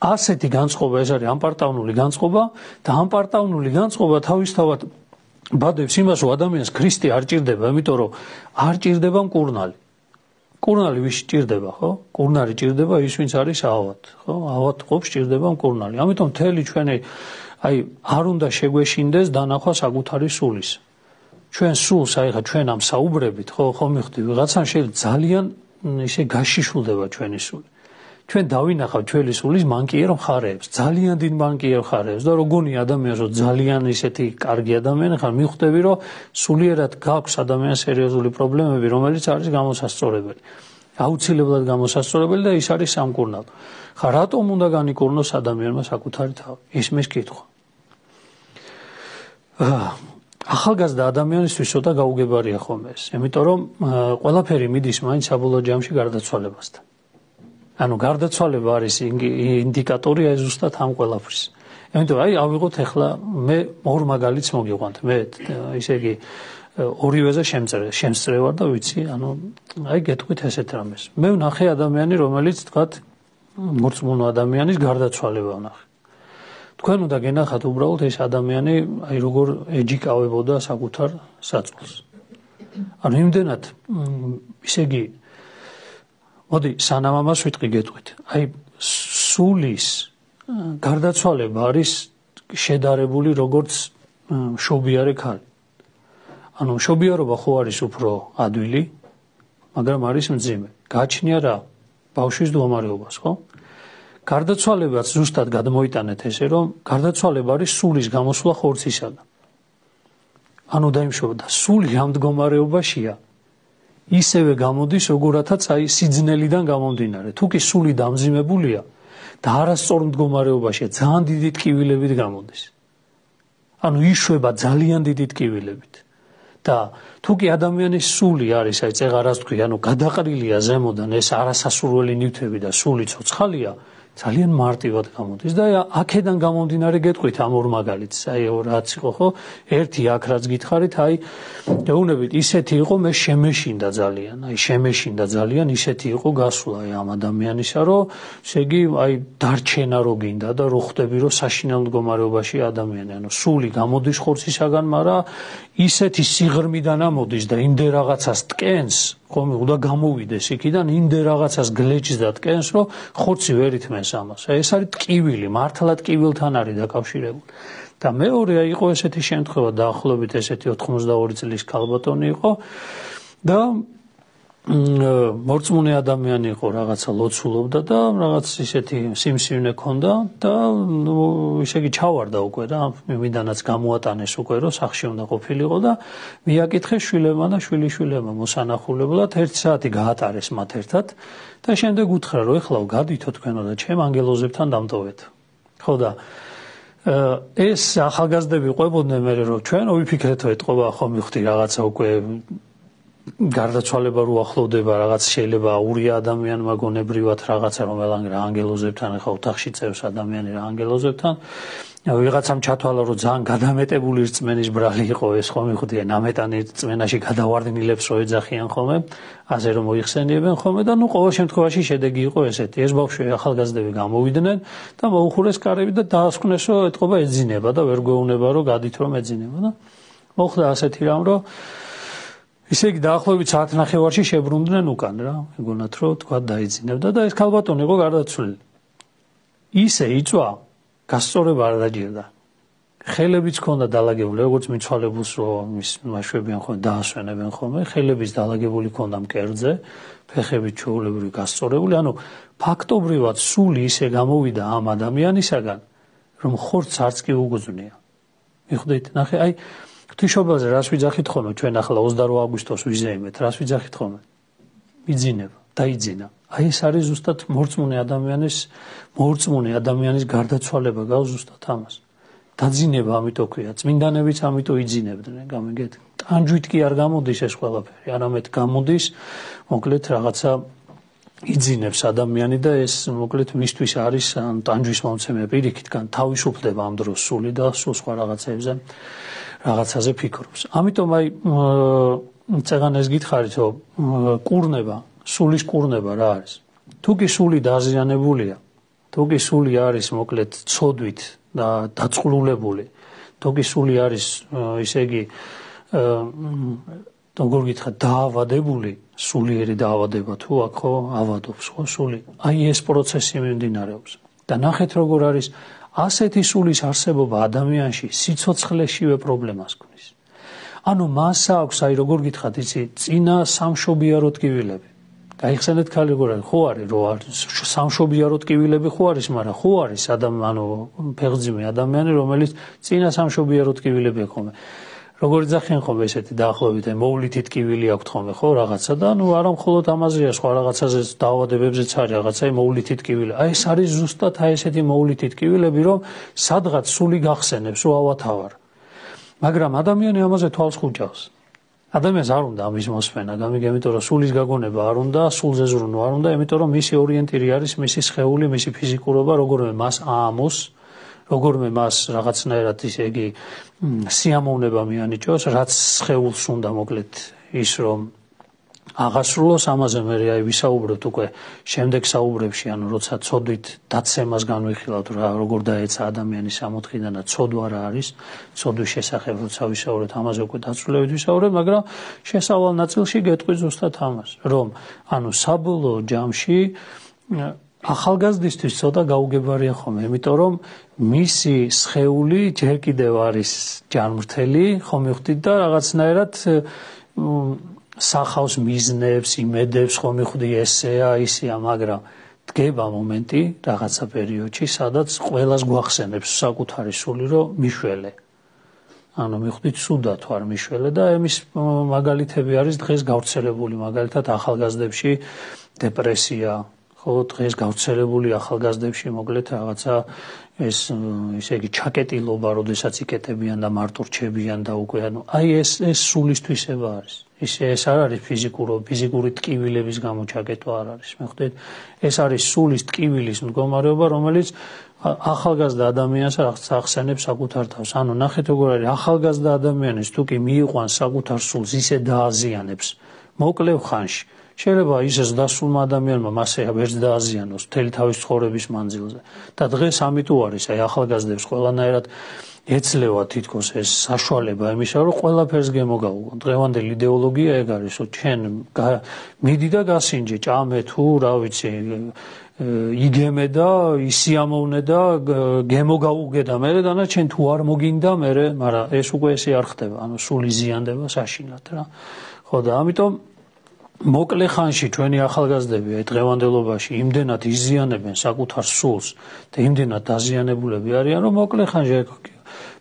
ასეთი განწყობა ეს არის ამპარტავნული განწყობა და ამპარტავნული განწყობა თავისთავად ბადებს იმას რომ ადამიანს ქრისტე არ ჭირდება, იმიტომ რომ არ ჭირდება მკურნალი. კურნალი ვის ჭირდება, ხო? კურნალი ჭირდება ის, ვინც არის ავად, ხო? ავად ყოფს ჭირდება კურნალი. ამიტომ მთელი ჩვენი აი არ უნდა შეგვეშინდეს დანახვა საკუთარი სულის. ჩვენ სულს აი ხა ჩვენ ამ საუბრებით, ხო, ხო მიხდი, ვიღაცამ შეიძლება ძალიან ისე გაშიშულდება ჩვენი სული. ჩვენ დავინახავთ ჩვენი სულის მანკიერ მხარეებს, ძალიან დიდ მანკიერ მხარეებს და როგორი ადამიანს რო ძალიან ისეთი კარგი ადამიანი ხარ, მიხვდები რომ სულიერად გაქვს ადამიანს სერიოზული პრობლემები, რომელიც არის გამოსასწორებელი. აუცილებლად გამოსასწორებელი და ის არის სამკურნალო. ხა რატომ უნდა განიკურნოს ადამიანმა საკუთარი თავი? ის მის კითხვა. ახალგაზრდა ადამიანისთვის ცოტა გაუგებარია ხოლმე ეს, იმიტომ რომ ყველაფერი მიდის მაინც საბოლოო ჯამში გარდაცვალებასთან. ანუ გარდაცვალება არის ინდიკატორი აი ზუსტად ამ ყველაფრის. იმიტომ აი ავიღოთ ახლა მე ორ მაგალითს მოგიყვანთ. მე ისე იგი ორივეზე შემწრე, შემწრე ვარ და ვიცი, ანუ აი გეტყვით ესეთ რამეს. მე ვნახე ადამიანი, რომელიც თქვათ მორწმუნო ადამიანის გარდაცვალება ვნახე. თქვენ უნდა გენახათ უბრალოდ ეს ადამიანი აი როგორ ეჯიკავებოდა საკუთარ საწოლს. ანუ იმდენად ისე იგი მოდი სანამ ამას ვიტყვი გეტყვით. აი სულის გარდაცვალება არის შედარებული როგორც მშობიარე ქალი. ანუ მშობიარობა ხო არის უფრო ადვილი, მაგრამ არის მძიმე. გააჩნია რა? ბავშვის მდგომარეობას, ხო? გარდაცვალებაც ზუსტად გადმოიტანეთ ესე, რომ გარდაცვალება არის სულის გამოსვლა ხორცისაგან. ანუ დაიმშობა სული ამ მდგომარეობაშია. ისევე გამოდის როგორათაც აი სიძნელიდან გამომდინარე. თუ კი სული დამძიმებულია და არასწორ მდგომარეობაშია, ძალიან დიდი ტკივილებით გამოდის. ანუ იშვება ძალიან დიდი ტკივილებით. და თუ კი ადამიანის სული არის, აი წეღარას თქვი, ანუ გადაყრილია ზემოდან ეს არასასურველი ნივთები და სული ცოცხალია, ძალიან მარტივად გამოდის და აქედან გამომდინარე გეტყვით ამ ორ მაგალითს, აი რაც იყო ხო, ერთი აქ რაც გითხარით, აი ეუბნებით ისეთი იყო, მე შემეშინდა ძალიან, აი შემეშინდა ძალიან, ისეთი იყო გასვლა აი ამ ადამიანისა, რომ ესე იგი აი დარჩენა რო გინდა და რო ხვდები რომ საშინელ მდგომარეობაში ადამიანი, ანუ სული გამოდის ხორცისაგან, მაგრამ ისეთი სიღრმიდან ამოდის და იმდე რაღაცას ტკენს, ხომ უნდა გამოვიდეს იქიდან, იმდე რაღაცას გლეჯს და ტკენს, რომ ხორცი ვერ ითმენს ამას. ეს არის ტკივილი, მართლა ტკივილთან არის დაკავშირებული. და მეორე იყო ესეთი შემთხვევა, დაახლოებით ესეთი ოთხმოცდაორი წლის ქალბატონი იყო და მორწმუნე ადამიანი იყო, რაღაცა ლოცულობდა და რაღაც ისეთი სიმსივნე ქონდა და ისე იგი ჩავარდა უკვე და იმიდანაც გამოატანეს უკვე რომ სახში უნდა ყოფილიყო და მიაკითხეს შვილებმა და შვილიშვილებმა მოსანახულებლად ერთი საათი გაატარეს მათ ერთად და შემდეგ უთხრა რომ ეხლა გადითო თქვენო და ჩემ ანგელოზებთან დამტოვეთ. ხო და ეს ახალგაზრდები ყვებოდნენ მე რომ ჩვენ ვიფიქრეთო ეთყობა ხო მივხვდი რაღაცა უკვე გარდაცვალება რო ახლოვდება, რაღაც შეიძლება აურია ადამიანმა გონებრივად რაღაცა რომელან რა ანგელოზებთან ახლა ოთახში წევს ადამიანი რა ანგელოზებთან ვიღაცამ ჩათვალა რომ ძალიან გადამეტებული რწმენის ბრალი იყო ეს ხომ მიხდიან ამეტანი რწმენაში გადავარდნილებს რო ეძახიან ხოლმე ასე რომ მოიხსენიებენ ხოლმე და ნუ ყოველ შემთხვევაში შედეგი იყო ესეთი ეს ბავშვი ახალგაზრდები გამოვიდნენ და მოუხურეს კარები და დაასკვნეს რომ ეთყობა ეძინება და ვერ გვეუბნება რომ გადით რომ ეძინება და მოხდა ასეთი რამ რომ ისე იგი დაახლოებით საათნახევარში შებრუნდნენ უკან რა, მეგონათ რომ თქვა დაიძინებდა და ეს ქალბატონი იყო გარდაცვლილი. ისე იწვა, გასწორება არ დაჭირდა. ხელებიც ჰქონდა დალაგებული, როგორც მიცვალებულს რომ მის მაშვებიან ხოლმე დაასვენებენ ხოლმე, ხელებიც დალაგებული ჰქონდა მკერდზე, ფეხებიც ჩვეულებრივი გასწორებული, ანუ ფაქტობრივად სული ისე გამოვიდა ამ ადამიანისაგან, რომ ხორცს არც კი უგზნია. მიხვდით, ნახე, აი ღვთისმშობელზე რას ვიძახით ხოლმე ჩვენ ახლა ოცდაორი აგვისტოს ვიზეიმეთ, რას ვიძახით ხოლმე? მიძინება, დაიძინა. აი ეს არის ზუსტად მორწმუნე ადამიანის მორწმუნე ადამიანის გარდაცვალება გავს ზუსტად ამას. დაძინება ამიტომ ქვია, წმინდანებიც ამიტომ იძინებდნენ, გამიგეთ. ტანჯვით კი არ გამოდის ეს ყველაფერი, არამედ გამოდის მოკლედ რაღაცა იძინებს ადამიანი და ეს მოკლედ მისთვის არის ტანჯვის მომცემი პირიქით, კან თავისუფლდება ამ დროს სული და სულ სხვა რაღაცებზე რაღაცაზე ფიქრობს. ამიტომ აი წეგან ეს გითხარით რომ კურნება, სულის კურნება რა არის? თუ კი სული დაზიანებულია, თუ კი სული არის მოკლედ ცოდვით და დაწყლულებული, თუ კი სული არის ისე იგი როგორ გითხრათ დაავადებული, სულიერი დაავადება თუ აქ ხო ავადობს ხო სული. აი ეს პროცესი მიმდინარეობს. და ნახეთ როგორ არის ასეთი სულის არსებობა ადამიანში სიცოცხლეშივე პრობლემას ქმნის. ანუ მას აქვს აი როგორ გითხრათ იცი წინა სამშობიარო ტკივილები. გაიხსენეთ ქალი როგორ არის ხო არის რო არის სამშობიარო ტკივილები ხო არის მაგრამ ხო არის ადამიანი ანუ ფეხძიმე ადამიანი რომელიც წინა სამშობიარო ტკივილები აქვს ხოლმე. როგორ ძახიან ხოლმე ესეთი დაახლოებით აი მოვლითი ტკივილი აქვს ხოლმე ხო რაღაცა და ნუ არა მხოლოდ ამაზეა სხვა რაღაცაზე დაავადებებზეც არის რაღაცა აი მოვლითი ტკივილი. აი ეს არის ზუსტად აი ესეთი მოვლითი ტკივილები რომ სადღაც სული გახსენებს რომ ავათავარ. მაგრამ ადამიანი ამაზე თვალს ხუჭავს. ადამიანს არ უნდა ამის მოსმენა, გამიგე, იმიტომ რომ სულის გაგონება არ უნდა, სულზე ზრუნვა არ უნდა, იმიტომ რომ მისი ორიენტირი არის მისი სხეული, მისი ფიზიკურობა, როგორმე მას აამოს, როგორმე მას რაღაცნაირად ისე იგი სიამოვნება მიანიჭოს, რაც სხეულს უნდა მოკლედ ის რომ აღასრულოს ამაზე მე აი ვისაუბრებთ უკვე შემდეგ საუბრებში, ანუ როცა ცოდვით დაცემას განვიხილავთ რა როგორ დაეცა ადამიანის სამოთხიდან და ცოდვა რა არის, ცოდვის შესახებ როცა ვისაუბრებთ, ამაზე უკვე დაწვრილებით ვისაუბრებთ, მაგრამ შესავალ ნაწილში გეტყვი ზუსტად ამას, რომ ანუ საბოლოო ჯამში ახალგაზრდისთვის ცოტა გაუგებარია ხოლმე, იმიტომ რომ მისი სხეული ჯერ კიდევ არის ჯანმრთელი, ხო მივხვდით და რაღაცნაირად სახავს მიზნებს, იმედებს, ხო მივხვდი ესეა, ისეა, მაგრამ დგება მომენტი რაღაცა პერიოდში, სადაც ყველას გვახსენებს საკუთარი სული, რომ მიშველე. ანუ მივხვდით სუდა თუ არ მიშველე და ამის მაგალითები არის დღეს გავრცელებული, მაგალითად ახალგაზრდებში დეპრესია, ხო დღეს გავრცელებული ახალგაზრდებში მოკლედ რაღაცა ეს ისე იგი ჩაკეტილობა, როდესაც იკეტებიან და მარტო რჩებიან და უკვე ანუ აი ეს ეს სულისთვისება არის. ის ეს არ არის ფიზიკურო ფიზიკური ტკივილების გამო ჩაკეტვა არ არის. მე ხვდით, ეს არის სულის ტკივილის მდგომარეობა, რომელიც ახალგაზრდა ადამიანს ახსენებს საკუთარ თავს. ანუ ნახეთ როგორ არის ახალგაზრდა ადამიანის თუ კი მიიყვანს საკუთარ სულს, ისე დააზიანებს მოკლევ ხანში. შეიძლება ისეს დასულმა ადამიანმა მასე ვერც დააზიანოს მთელი თავის ცხოვრების მანძილზე. და დღეს ამიტომ არის აი ახალგაზრდებს ყველანაირად ეცლევა თითქოს ეს საშუალება იმისა, რომ ყველაფერს გემოგაუგონ. დღევანდელი იდეოლოგია ეგ არის, რომ ჩვენ მიდი და გასინჯე, ჭამე თუ რა ვიცი, იგემე და ისიამოვნე და გემოგაუგე და მერე დანარჩენ თუ არ მოგინდა მერე, მაგრამ ეს უკვე ესე არ ხდება, ანუ სული ზიანდება საშინლად რა. ხო და ამიტომ მოკლე ხანში ჩვენი ახალგაზრდები აი დღევანდელობაში იმდენად იზიანებენ საკუთარ სულს და იმდენად დაზიანებულები არიან, რომ მოკლე ხანში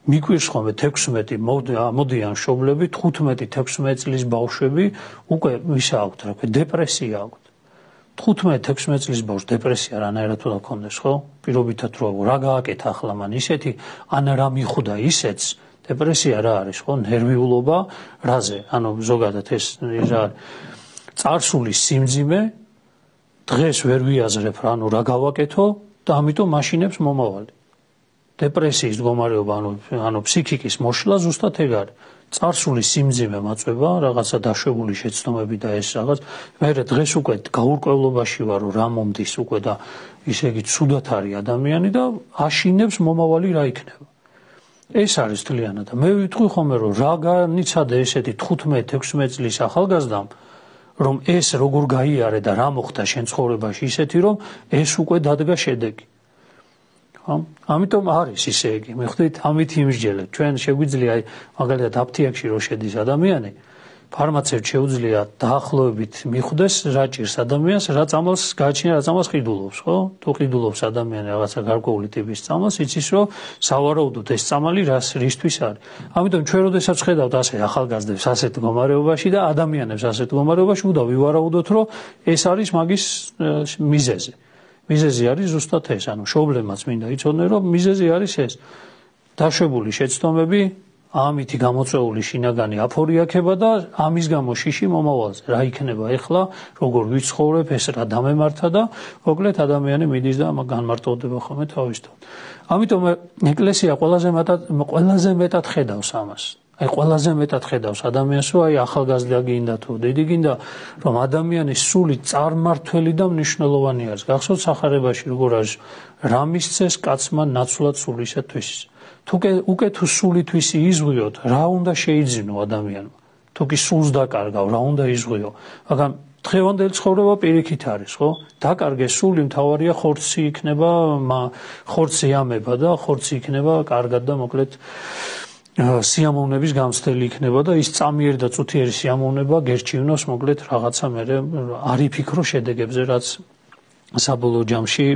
მიგვირს ხოლმე თექვსმეტი მოდიან მშობლები, თხუთმეტი თექვსმეტი წლის ბავშვები უკვე ვისა აქვთ, რა ქვია, დეპრესია აქვთ. თხუთმეტი თექვსმეტი წლის ბავშვს დეპრესია რანაირად უნდა ქონდეს, ხო? პირობითად რო რა გააკეთა ახლა მან ისეთი, ან რა მიხვდა ისეც, დეპრესია რა არის, ხო? ნერვიულობა, რაზე? ანუ ზოგადად ეს რა წარსულის სიმძიმე დღეს ვერ ვიაზრებ რა, ანუ რა გავაკეთო და ამიტომ მაშინებს მომავალი. დეპრესიის მდგომარეობა, ანუ ანუ ფსიქიკის მოშლა ზუსტად ეგ არის. წარსულის სიმძიმე მაწვება, რაღაცა დაშვებული შეცდომები და ეს რაღაც. მე დღეს უკვე გაურკვევლობაში ვარ, რომ რა მომდის უკვე და ისე იგი ცუდად არის ადამიანი და აშინებს მომავალი რა იქნება. ეს არის თლიანად. მე ვიტყვი ხოლმე, რომ რა განიცადა ესეთი თხუთმეტი თექვსმეტი წლის ახალგაზრდამ, რომ ეს როგორ გაიარე და რა მოხდა შენ ცხოვრებაში ისეთი, რომ ეს უკვე დადგა შედეგი. ამიტომ არის ისე იგი, მიხვდით, ამით იმსჯელეთ. ჩვენ შეგვიძლია აი მაგალითად აფთიაქში რო შედის ადამიანი, ფარმაცევტ შეუძლია დაახლოებით მიხვდეს რა ჭირს ადამიანს, რა წამალს გააჩნია, რა წამალს ყიდულობს, ხო? თუ ყიდულობს ადამიანი რაღაცა გარკვეული ტიპის წამალს, იცის რომ სავარაუდოდ ეს წამალი რას რისთვის არის. ამიტომ ჩვენ როდესაც ხედავთ ასე ახალგაზრდებს ასეთ მდგომარეობაში და ადამიანებს ასეთ მდგომარეობაში, უნდა ვივარაუდოთ, რომ ეს არის მაგის მიზეზი. მიზეზი არის ზუსტად ეს, ანუ მშობლებმაც მინდა იცოდნენ, რომ მიზეზი არის ეს. დაშვებული შეცდომები, ამითი გამოწვეული შინაგანი აფორიაქება და ამის გამო შიში მომავალზე. რა იქნება ეხლა, როგორ ვიცხოვრებ, ეს რა დამემართა და მოკლედ ადამიანი მიდის და განმარტოვდება ხოლმე თავისთავად. ამიტომ ეკლესია ყველაზე მეტად ყველაზე მეტად ხედავს ამას. აი ყველაზე მეტად ხედავს ადამიანს, რომ აი ახალგაზრდა გინდა თუ დიდი გინდა, რომ ადამიანის სული წარმართველი და მნიშვნელოვანი არის. გახსოვთ სახარებაში როგორ არის, რა მისცეს კაცმა ნაცვლად სულისათვის. თუკი უკვე თუ სულითვისი იზღვიოთ, რა უნდა შეიძინო ადამიანმა. თუკი სულს დაკარგავ, რა უნდა იზღვიო. მაგრამ დღევანდელი ცხოვრება პირიქით არის, ხო? დაკარგე სული, მთავარია ხორცი იქნება, ხორცი ამება და ხორცი იქნება კარგად და მოკლედ სიამოვნების გამცდელი იქნება და ის წამიერი და წუთიერი სიამოვნება გერჩივნოს მოკლედ რაღაცა მე არ იფიქრო შედეგებზე, რაც საბოლოო ჯამში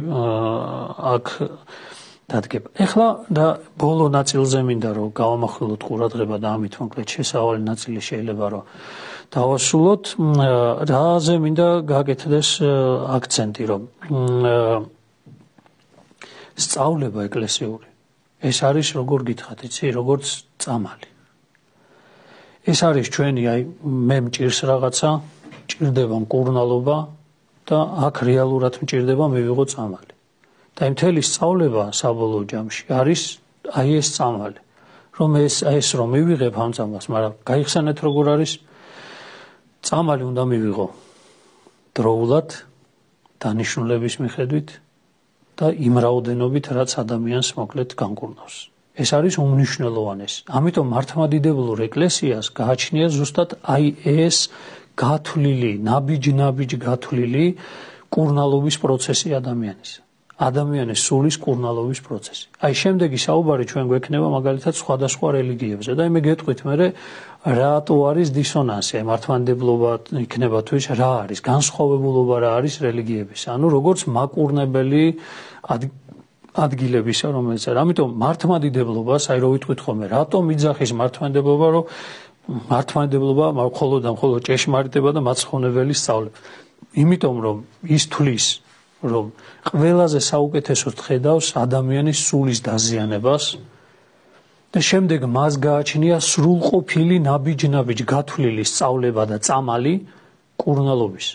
აქ დადგება. ეხლა და ბოლო ნაწილზე მინდა რომ გავამახვილოთ ყურადღება და ამით მოკლედ შესავალი ნაწილი შეიძლება რომ დავასრულოთ. რაზე მინდა გაკეთდეს აქცენტი, რომ სწავლება ეკლესიური ეს არის როგორ გითხრათ, იცი, როგორც წამალი. ეს არის ჩვენი, აი, მე მჭირს რაღაცა, მჭირდება მკურნალობა და აქ რეალურად მჭირდება მივიღო წამალი. და იმ მთელი სწავლება საბოლოო ჯამში არის აი ეს წამალი, რომ ეს ეს რომ მივიღებ ამ წამალს, მაგრამ გაიხსენეთ როგორ არის წამალი უნდა მივიღო დროულად, დანიშნულების მიხედვით და იმ რაოდენობით, რაც ადამიანს მოკლედ განკურნავს. ეს არის უმნიშვნელოვანესი. ამიტომ მართლმადიდებლურ ეკლესიას გააჩნია ზუსტად აი ეს გათვლილი, ნაბიჯ-ნაბიჯ გათვლილი კურნალობის პროცესი ადამიანის. ადამიანის სულის კურნალობის პროცესი. აი შემდეგი საუბარი ჩვენ გვექნება მაგალითად სხვადასხვა რელიგიებზე და იმე გეტყვით მე რატო არის დისონანსი, აი მართლმადიდებლობა იქნება თუ ის რა არის, განსხვავებულობა რა არის რელიგიების. ანუ როგორც მაკურნებელი ადგილებისა, რომელიც არის. ამიტომ მართლმადიდებლობას, აი რო ვიტყვით ხოლმე, რატომ იძახის მართლმადიდებლობა, რომ მართლმადიდებლობა მხოლოდ და მხოლოდ ჭეშმარიტება და მაცხოვნებელი სწავლება. იმიტომ რომ ის თვლის რომ ყველაზე საუკეთესოდ ხედავს ადამიანის სულის დაზიანებას და შემდეგ მას გააჩნია სრულყოფილი ნაბიჯ-ნაბიჯ გათვლილი სწავლება და წამალი კურნალობის.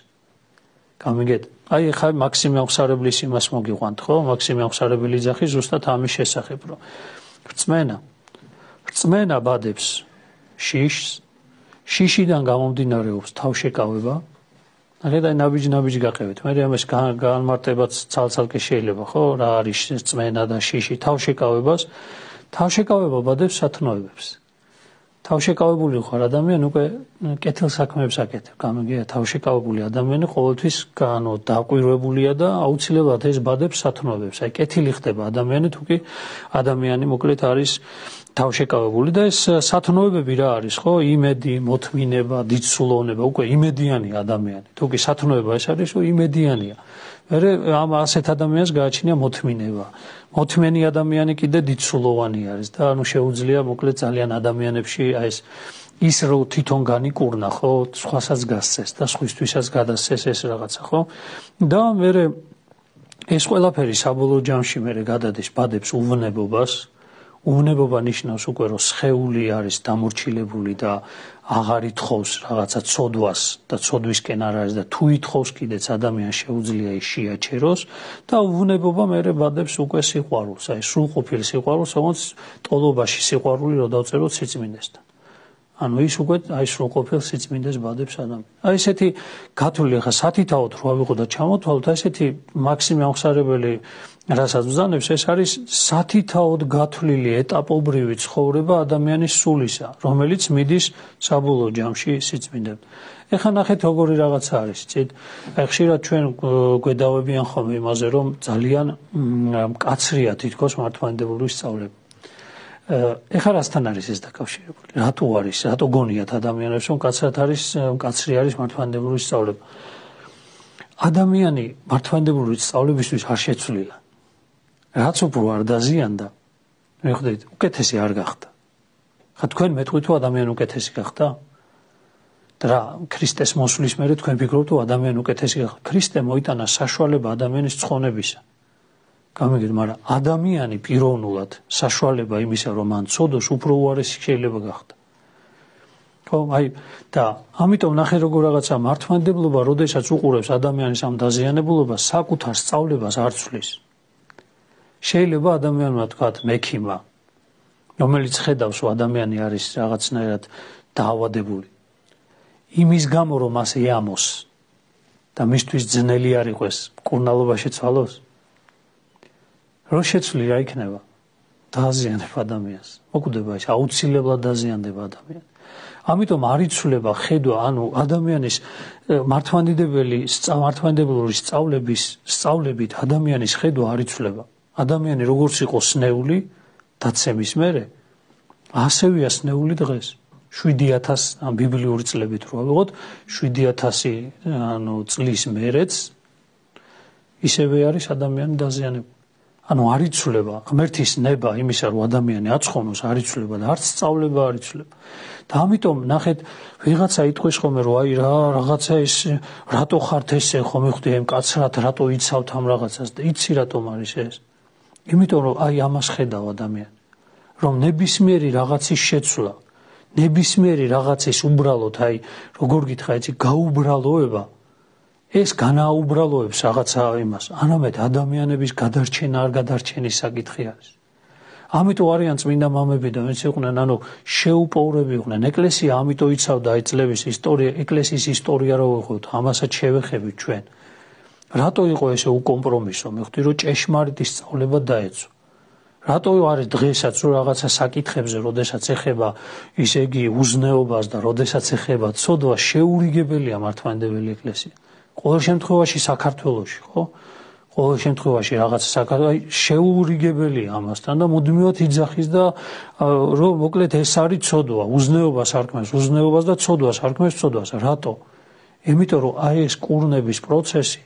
გამიგეთ? აი ხა მაქსიმე აღსარებლის იმას მოგიყვანთ, ხო? მაქსიმე აღსარებელი ძახის ზუსტად ამის შესახებ, რომ რწმენა რწმენა ბადებს შიშს, შიშიდან გამომდინარეობს თავშეკავება. აღედა ნაბიჯ-ნაბიჯ გაყევით. მე ამას განმარტებაც ცალ-ცალკე შეიძლება, ხო? რა არის რწმენა და შიში თავშეკავებას? თავშეკავება ბადებს სათნოებებს. თავშეკავებული ხარ ადამიანი უკვე კეთილ საქმეებს აკეთებ. გამიგია, თავშეკავებული ადამიანი ყოველთვის განო დაკვირვებულია და აუცილებლად ეს ბადებს სათნოებებს. აი კეთილი ხდება ადამიანი, თუ კი ადამიანი მოკლედ არის თავშეკავებული და ეს სათნოებები რა არის, ხო? იმედი, მოთმინება, დიდსულოვნება, უკვე იმედიანი ადამიანი. თუ კი სათნოება ეს არის, რომ იმედიანია. მერე ამ ასეთ ადამიანს გააჩნია მოთმინება. მოთმენი ადამიანი კიდე დიდსულოვანი არის და ანუ შეუძლია მოკლედ ძალიან ადამიანებში აი ეს ის რომ თვითონ განიკურნა, ხო? სხვასაც გასცეს და სხვისთვისაც გადასცეს ეს რაღაცა, ხო? და მერე ეს ყველაფერი საბოლოო ჯამში მერე გადადის ბადებს უვნებობას. უვნებობა ნიშნავს უკვე რომ სხეული არის დამორჩილებული და აღარ ითხოვს რაღაცა ცოდვას და ცოდვისკენ არ არის და თუ ითხოვს კიდეც ადამიანს შეუძლია ის შეაჩეროს და უვნებობა მერე ბადებს უკვე სიყვარულს, აი სრულყოფილ სიყვარულს, რომელიც ტოლობაში სიყვარული რო დავწეროთ სიწმინდესთან. ანუ ის უკვე აი სრულყოფილ სიწმინდეს ბადებს ადამიანს. აი ესეთი გათვლილი ხა სათითაოდ რო ავიღო და ჩამოთვალოთ, აი ესეთი მაქსიმე აღსარებელი რასაც ვზანებს, ეს არის სათითაოდ გათვლილი ეტაპობრივი ცხოვრება ადამიანის სულისა, რომელიც მიდის საბოლოო ჯამში სიწმინდემდე. ეხლა ნახეთ როგორი რაღაცა არის, იცით? აი ხშირად ჩვენ გვედავებიან ხოლმე იმაზე, რომ ძალიან მკაცრია თითქოს მართლმადიდებლური სწავლება. ეხლა რასთან არის ეს დაკავშირებული? რატო არის? რატო გონიათ ადამიანებს, რომ მკაცრად არის, მკაცრი არის მართლმადიდებლური სწავლება? ადამიანი მართლმადიდებლური სწავლებისთვის არ შეცვლილა. რაც უფრო არ დაზიანდა, მიხვდით, უკეთესი არ გახდა. ხა თქვენ მეტყვით თუ ადამიანი უკეთესი გახდა? და რა, ქრისტეს მოსვლის მერე თქვენ ფიქრობთ თუ ადამიანი უკეთესი გახდა? ქრისტე მოიტანა საშუალება ადამიანის ცხონებისა. გამიგეთ, მაგრამ ადამიანი პიროვნულად საშუალება იმისა, რომ მან ცოდოს, უფრო უარესი შეიძლება გახდა. ხო, აი და ამიტომ ნახე როგორ რაღაცა მართლმადიდებლობა, როდესაც უყურებს ადამიანის ამ დაზიანებულობას, საკუთარ სწავლებას არ ცვლის. შეიძლება ადამიანმა თქვათ მექიმა, რომელიც ხედავს, რომ ადამიანი არის რაღაცნაირად დაავადებული. იმის გამო, რომ მას ეამოს და მისთვის ძნელი არ იყოს მკურნალობაში ცვალოს, რო შეცვლი რა იქნება? დააზიანებ ადამიანს. მოკვდება ის, აუცილებლად დააზიანდება ადამიანს. ამიტომ არ იცვლება ხედვა, ანუ ადამიანის მართლმადიდებელი მართლმადიდებლური სწავლების სწავლებით ადამიანის ხედვა არ იცვლება. ადამიანი როგორც იყო სნეული დაცემის მერე, ასევეა სნეული დღეს. შვიდი ათასი ან ბიბლიური წლებით რო ავიღოთ, შვიდი ათასი ანუ წლის მერეც ისევე არის ადამიანი დაზიანებული. ანუ არ იცვლება ღმერთის ნება იმისა, რომ ადამიანი აცხონოს, არ იცვლება და არც სწავლება არ იცვლება. და ამიტომ ნახეთ, ვიღაცა იტყვის ხოლმე, რომ აი რა რაღაცა ეს რატო ხართ ესე, ხომ მივხვდი ამ კაცრად, რატო იცავთ ამ რაღაცას და იცი რატომ არის ეს? იმიტომ რომ აი ამას ხედავ ადამიანი, რომ ნებისმიერი რაღაცის შეცვლა, ნებისმიერი რაღაცის უბრალოდ აი როგორ გითხრა იცი გაუბრალოება ეს განაუბრალოებს რაღაცა იმას, არამედ ადამიანების გადარჩენა არ გადარჩენის საკითხი არის. ამიტომ არიან წმინდა მამები და ვინც იყვნენ, ანუ შეუპოვრები იყვნენ. ეკლესია ამიტომ იცავდა აი წლების ისტორია, ეკლესიის ისტორია რო ვიღოთ, ამასაც შევეხებით ჩვენ. რატო იყო ესე უკომპრომისო? მივხვდი რომ ჭეშმარიტი სწავლება დაეცვა. რატო არის დღესაც რომ რაღაცა საკითხებზე, როდესაც ეხება ისე იგი უზნეობას და როდესაც ეხება ცოდვა, შეურიგებელია მართლმადიდებელი ეკლესია. ყოველ შემთხვევაში საქართველოში, ხო? ყოველ შემთხვევაში რაღაც საქართველოში შეურიგებელია ამასთან და მუდმივად იძახის და რომ მოკლედ ეს არის ცოდვა, უზნეობას არქმევს, უზნეობას და ცოდვას არქმევს, ცოდვას. რატო? იმიტომ რომ აი ეს კურნების პროცესი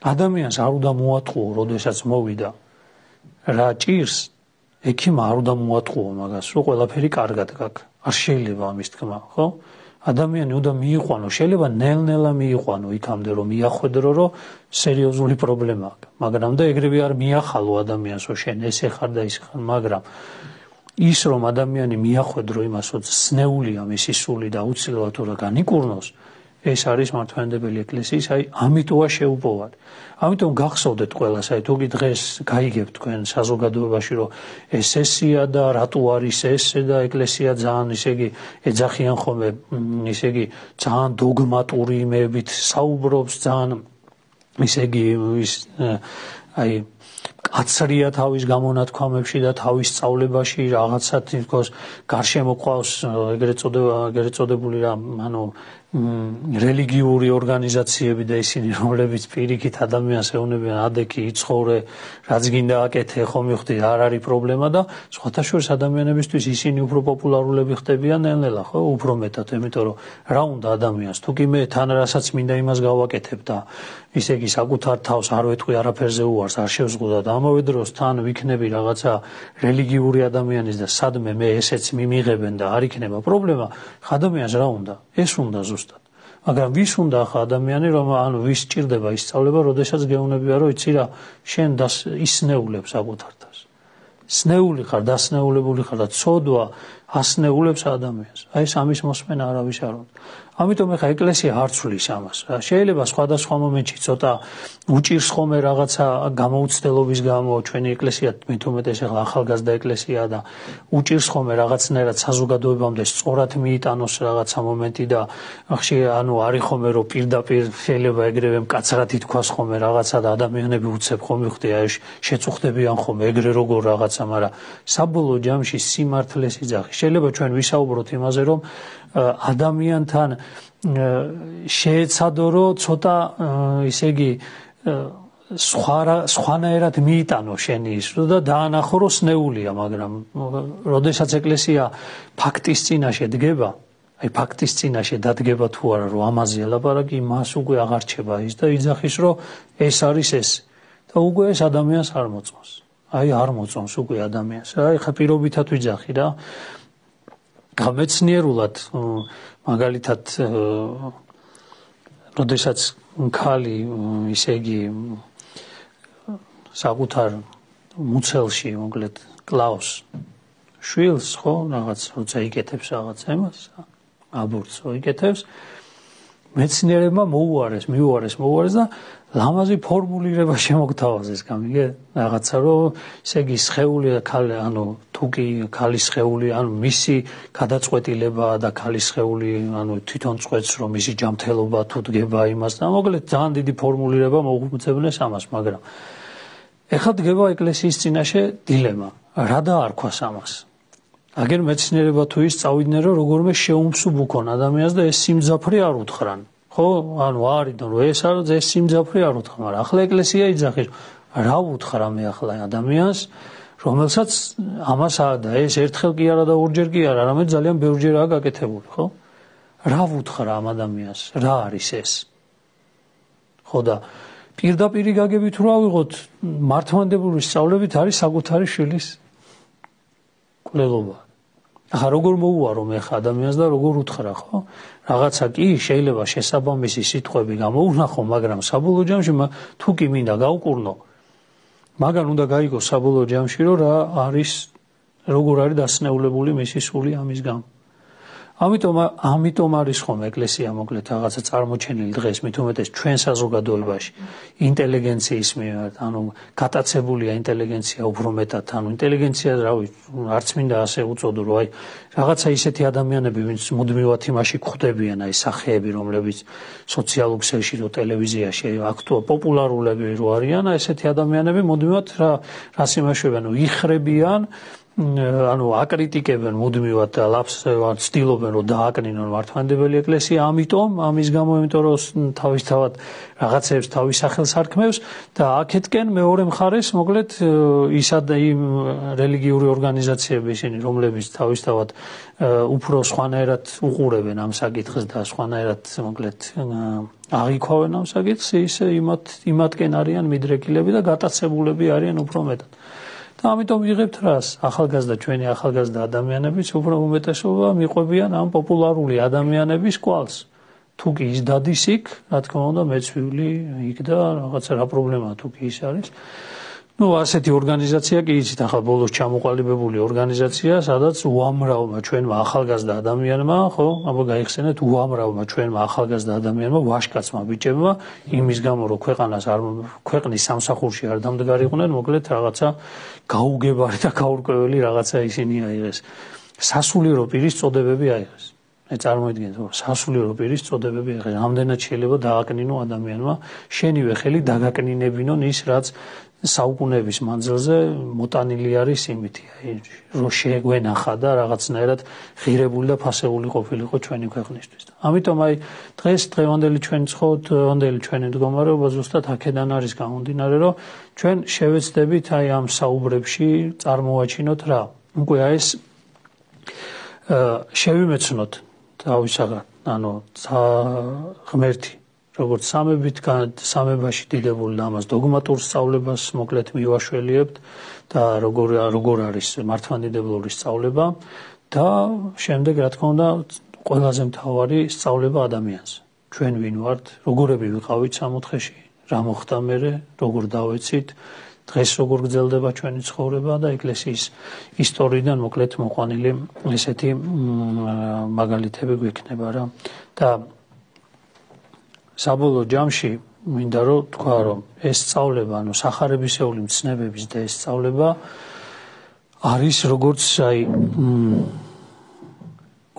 ადამიანს არ უნდა მოატყუო, როდესაც მოვიდა რა ჭირს, ექიმ არ უნდა მოატყუო მაგას, რომ ყველაფერი კარგად გაქვს. არ შეიძლება ამის თქმა, ხო? ადამიანი უნდა მიიყვანო, შეიძლება ნელ-ნელა მიიყვანო იქამდე რომ მიახვედრო, რომ სერიოზული პრობლემა აქვს. მაგრამ და ეგრევე არ მიახალო ადამიანს, რომ შენ ესე ხარ და ის ხარ, მაგრამ ის რომ ადამიანი მიახვედრო იმას, რომ სნეულია მისი სული და აუცილებლად უნდა განიკურნოს, ეს არის მართლმადიდებელი ეკლესიის, აი ამიტოა შეუპოვარი. ამიტომ გახსოვდეთ ყველას, აი თუგი დღეს გაიგებთ თქვენ საზოგადოებაში, რომ ეს ესია და რატო არის ესე და ეკლესია ძალიან ისე იგი ეძახიან ხოლმე, ისე იგი ძალიან დოგმატური იმებით საუბრობს, ძალიან ისე იგი ის აი კაცრია თავის გამონათქვამებში და თავის სწავლებაში რაღაცა თითქოს გარშემო ყავს ეგრეთ წოდება, ეგრეთ წოდებული რა, ანუ რელიგიური ორგანიზაციები და ისინი, რომლებიც პირიქით ადამიანს ეუბნებიან, ადექი იცხოვრე, რაც გინდა აკეთე, ხო მივხვდი, არ არის პრობლემა და სხვათა შორის ადამიანებისთვის ისინი უფრო პოპულარულები ხდებიან ნელ-ნელა, ხო, უფრო მეტად, იმიტომ რომ რა უნდა ადამიანს, თუ კი მე თან რასაც მინდა იმას გავაკეთებ და ისე იგი საკუთარ თავს არ ვეთქვი არაფერზე უარს, არ შევზღუდა და ამავე დროს თან ვიქნები რაღაცა რელიგიური ადამიანის და სადმე მე ესეც მიმიღებენ და არ იქნება პრობლემა, ადამიანს რა უნდა? ეს უნდა ზუსტად. მაგრამ ვის უნდა ახლა ადამიანი, რომ ანუ ვის სჭირდება ისწავლება, როდესაც გეუბნებია, რომ იცი რა, შენ ისნეულებს საკუთარ თავს. სნეული ხარ, დასნეულებული ხარ და ცოდვა ასნეულებს ადამიანს. აი ეს ამის მოსმენა არავის არ უნდა. ამიტომ ეხა ეკლესია არ ცვლის ამას. შეიძლება სხვადასხვა მომენტში ცოტა უჭირს ხოლმე რაღაცა გამოუცდელობის გამო ჩვენი ეკლესია მით უმეტეს ეხლა ახალგაზრდა ეკლესიაა და უჭირს ხოლმე რაღაცნაირად საზოგადოებამდე სწორად მიიტანოს რაღაცა მომენტი და ხშირ ანუ არის ხოლმე რომ პირდაპირ შეიძლება ეგრევე მკაცრად ითქვას ხოლმე რაღაცა და ადამიანები უცებ ხოლმე ხდი აი შეწუხდებიან ხოლმე ეგრე როგორ რაღაცა, მაგრამ საბოლოო ჯამში სიმართლეს იძახი. შეიძლება ჩვენ ვისაუბროთ იმაზე, რომ ადამიანთან შეეცადო, რომ ცოტა ისე იგი სხვა სხვანაირად მიიტანო შენი ის და დაანახო, რომ სნეულია, მაგრამ როდესაც ეკლესია ფაქტის წინაშე დგება, აი ფაქტის წინაშე დადგება თუ არა, რომ ამაზე ლაპარაკი, მას უკვე აღარ რჩება ის და იძახის, რომ ეს არის ეს და უკვე ეს ადამიანს არ მოწონს. აი არ მოწონს უკვე ადამიანს. აი ხა პირობითად ვიძახი რა. გამეცნიერულად მაგალითად როდესაც ქალი ისე იგი საკუთარ მუცელში მოკლედ კლავს შვილს, ხო, რაღაც როცა იკეთებს რაღაც ემას, აბორტს იკეთებს, მეცნიერებმა მოუარეს, მიუარეს, მოუარეს და ლამაზი ფორმულირება შემოგთავაზეს, გამიგე? რაღაცა რომ ესე იგი სხეული ქალი, ანუ თუკი ქალის სხეული, ანუ მისი გადაწყვეტილება და ქალის სხეული, ანუ თვითონ წყვეტს რომ მისი ჯანმრთელობა თუ დგება იმას და მოკლედ ძალიან დიდი ფორმულირება მოუწევნეს ამას, მაგრამ ეხლა დგება ეკლესიის წინაშე დილემა, რა დაარქვას ამას? აგერ მეცნიერება თუ ის წავიდნენ რომ როგორმე შეუმსუბ უქონ ადამიანს და ეს სიმძაფრე არ უთხრან ხო ანუ არიდან რომ ეს არის ეს სიმძაფრე არ უთხრა მაგრამ ახლა ეკლესია იძახის რა უთხრა მე ახლა ადამიანს რომელსაც ამას და ეს ერთხელ კი არა და ორჯერ კი არა არამედ ძალიან ბევრჯერაა გაკეთებული ხო რა უთხრა ამ ადამიანს რა არის ეს ხო და პირდაპირ გაგებით რა ვიღოთ მართლმადიდებლური სწავლებით არის საკუთარი შვილის კვლელობა ახლა როგორ მოუარო მე ხა ადამიანს და როგორ უთხრა ხო რაღაცა კი შეიძლება შესაბამისი სიტყვები გამოუნახო მაგრამ საბოლოო ჯამში თუ კი მინდა გავკურნო მაგან უნდა გაიგო საბოლოო ჯამში რომ რა არის როგორ არის დასნეულებული მისი სული ამის გამო ამიტომ ამიტომ არის ხომ ეკლესია მოკლედ რაღაცა წარმოჩენილი დღეს მით უმეტეს ჩვენ საზოგადოებაში ინტელიგენციის მიმართ ანუ გატაცებულია ინტელიგენცია უფრო მეტად ანუ ინტელიგენცია რავი არც მინდა ასე უწოდო რომ აი რაღაცა ისეთი ადამიანები ვინც მუდმივად იმაში გვხვდებიან აი სახეები რომლებიც სოციალურ ქსელში რო ტელევიზიაში აქტუალ პოპულარულები რო არიან აი ესეთი ადამიანები მუდმივად რა რას იმაშვებიან რომ იხრებიან ანუ აკრიტიკებენ მუდმივად და ლაფს ცდილობენ რომ დააკნინონ მართლმადიდებელი ეკლესია ამიტომ ამის გამო იმიტომ რომ თავისთავად რაღაცებს თავის სახელს არქმევს და აქეთკენ მეორე მხარეს მოკლედ ისად იმ რელიგიური ორგანიზაციები ისინი რომლებიც თავისთავად უფრო სხვანაირად უყურებენ ამ საკითხს და სხვანაირად მოკლედ აღიქვავენ ამ საკითხს ისე იმათ იმათკენ არიან მიდრეკილები და გატაცებულები არიან უფრო მეტად და ამიტომ ვიღებთ რას ახალგაზრდა ჩვენი ახალგაზრდა ადამიანებიც უფრო უმეტესობა მიყვებიან ამ პოპულარული ადამიანების კვალს თუ კი ის დადის იქ რა თქმა უნდა მეც ვივლი იქ და რაღაცა რა პრობლემაა თუ კი ის არის ну ასეთი ორგანიზაცია კი იცით ახლა ბოლოს ჩამოყალიბებული ორგანიზაცია სადაც უამრავმა ჩვენმა ახალგაზრდა ადამიანმა ხო აბა გაიხსენეთ უამრავმა ჩვენმა ახალგაზრდა ადამიანმა ვაშკაცმა ბიჭებმა იმის გამო რომ ქვეყანას არ ქვეყნის სამსახურში არ დამდგარიყვნენ მოკლედ რაღაცა გაუგებარი და გაურკვეველი რაღაცა ისინი აიღეს სასულიერო პირის წოდებები აიღეს მე წარმოიდგინეთ რომ სასულიერო პირის წოდებები აიღეს ამდენად შეიძლება დააკნინო ადამიანმა შენივე ხელი დაგაკნინებინონ ის რაც საუკუნეების მანძილზე მოტანილი არის იმითი აი რომ შეგვენახა და რაღაცნაირად ღირებული და ფასეული ყოფილიყო ჩვენი ქვეყნისთვის და ამიტომ აი დღეს დღევანდელი ჩვენი დღევანდელი ჩვენი მდგომარეობა ზუსტად აქედან არის გამომდინარე რომ ჩვენ შევეცდებით აი ამ საუბრებში წარმოვაჩინოთ რა უკვე აი ეს შევიმეცნოთ თავისაღად ანუ ღმერთი როგორც სამებით სამებაში დიდებული და ამას დოგმატურ სწავლებას მოკლედ მივაშველიებთ და როგორ როგორ არის მართლმადიდებლური სწავლება და შემდეგ რა თქმა უნდა ყველაზე მთავარი სწავლება ადამიანს ჩვენ ვინ ვართ როგორები ვიყავით სამოთხეში რა მოხდა მერე როგორ დავეცით დღეს როგორ გრძელდება ჩვენი ცხოვრება და ეკლესიის ისტორიიდან მოკლედ მოყვანილი ესეთი მაგალითები გვექნება რა და საბოლოო ჯამში მინდა რომ თქვა რომ ეს სწავლება ანუ სახარებისეული მცნებების და ეს სწავლება არის როგორც აი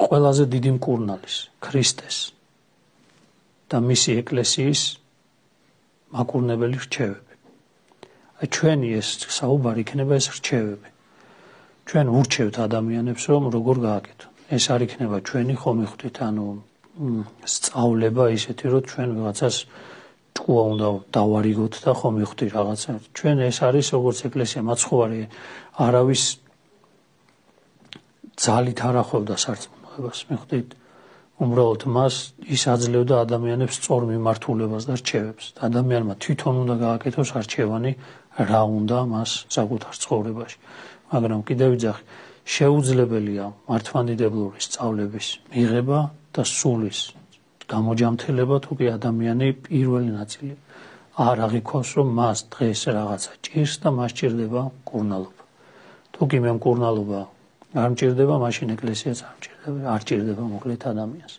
ყველაზე დიდი მკურნალის ქრისტეს და მისი ეკლესიის მაკურნებელი რჩევები აი ჩვენი ეს საუბარი იქნება ეს რჩევები ჩვენ ურჩევთ ადამიანებს რომ როგორ გააკეთონ ეს არ იქნება ჩვენი ხომ ხვდით ანუ სწავლება ისეთი რომ ჩვენ ვიღაცას ჭკუა უნდა დავარიგოთ და ხომ მივხვდი რაღაცა ჩვენ ეს არის როგორც ეკლესია მაცხოვარი არავის ძალით არ ახვევდა სარწმუნოებას მივხვდით უბრალოდ მას ის აძლევდა ადამიანებს სწორ მიმართულებას და რჩევებს ადამიანმა თვითონ უნდა გააკეთოს არჩევანი რა უნდა მას საკუთარ ცხოვრებაში მაგრამ კიდევ ვიძახი შეუძლებელია მართლმადიდებლური სწავლების მიღება და სულის გამოჯამთელება თუ კი ადამიანი პირველი ნაწილი არ აღიქვავს რომ მას დღეს რაღაცა ჭირს და მას ჭირდება მკურნალობა თუ კი მე მკურნალობა არ მჭირდება მაშინ ეკლესიაც არ მჭირდება არ ჭირდება მოკლედ ადამიანს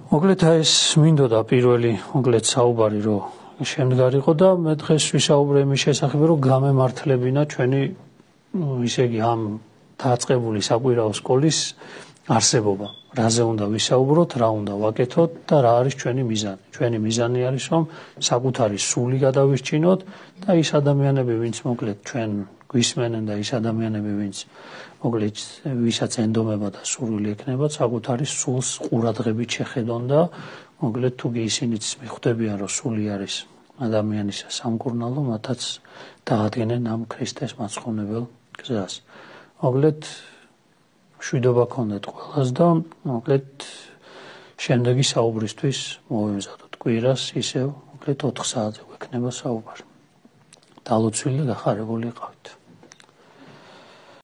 მოკლედ ეს მინდოდა პირველი მოკლედ საუბარი რომ შემდგარიყო და მე დღეს ვისაუბრე იმის შესახებ რომ გამემართლებინა ჩვენი ისე იგი ამ დაწყებული საკვირაო სკოლის არსებობა რაზე უნდა ვისაუბროთ რა უნდა ვაკეთოთ და რა არის ჩვენი მიზანი ჩვენი მიზანი არის რომ საკუთარი სული გადავირჩინოთ და ის ადამიანები ვინც მოკლედ ჩვენ გვისმენენ და ის ადამიანები, ვინც მოკლედ ვისაც ენდომება და სურვილი ექნება, საკუთარი სულს ყურადღებით შეხედონ და მოკლედ თუ ისინიც მიხვდებიან, რომ სული არის ადამიანის სამკურნალო, მათაც დაადგენენ ამ ქრისტეს მაცხოვნებელ გზას. მოკლედ მშვიდობა გქონდეთ ყველას და მოკლედ შემდეგი საუბრისთვის მოვემზადოთ კვირას, ისევ მოკლედ ოთხ საათზე გვექნება საუბარი. დალოცვილი და გახარებული იყავით.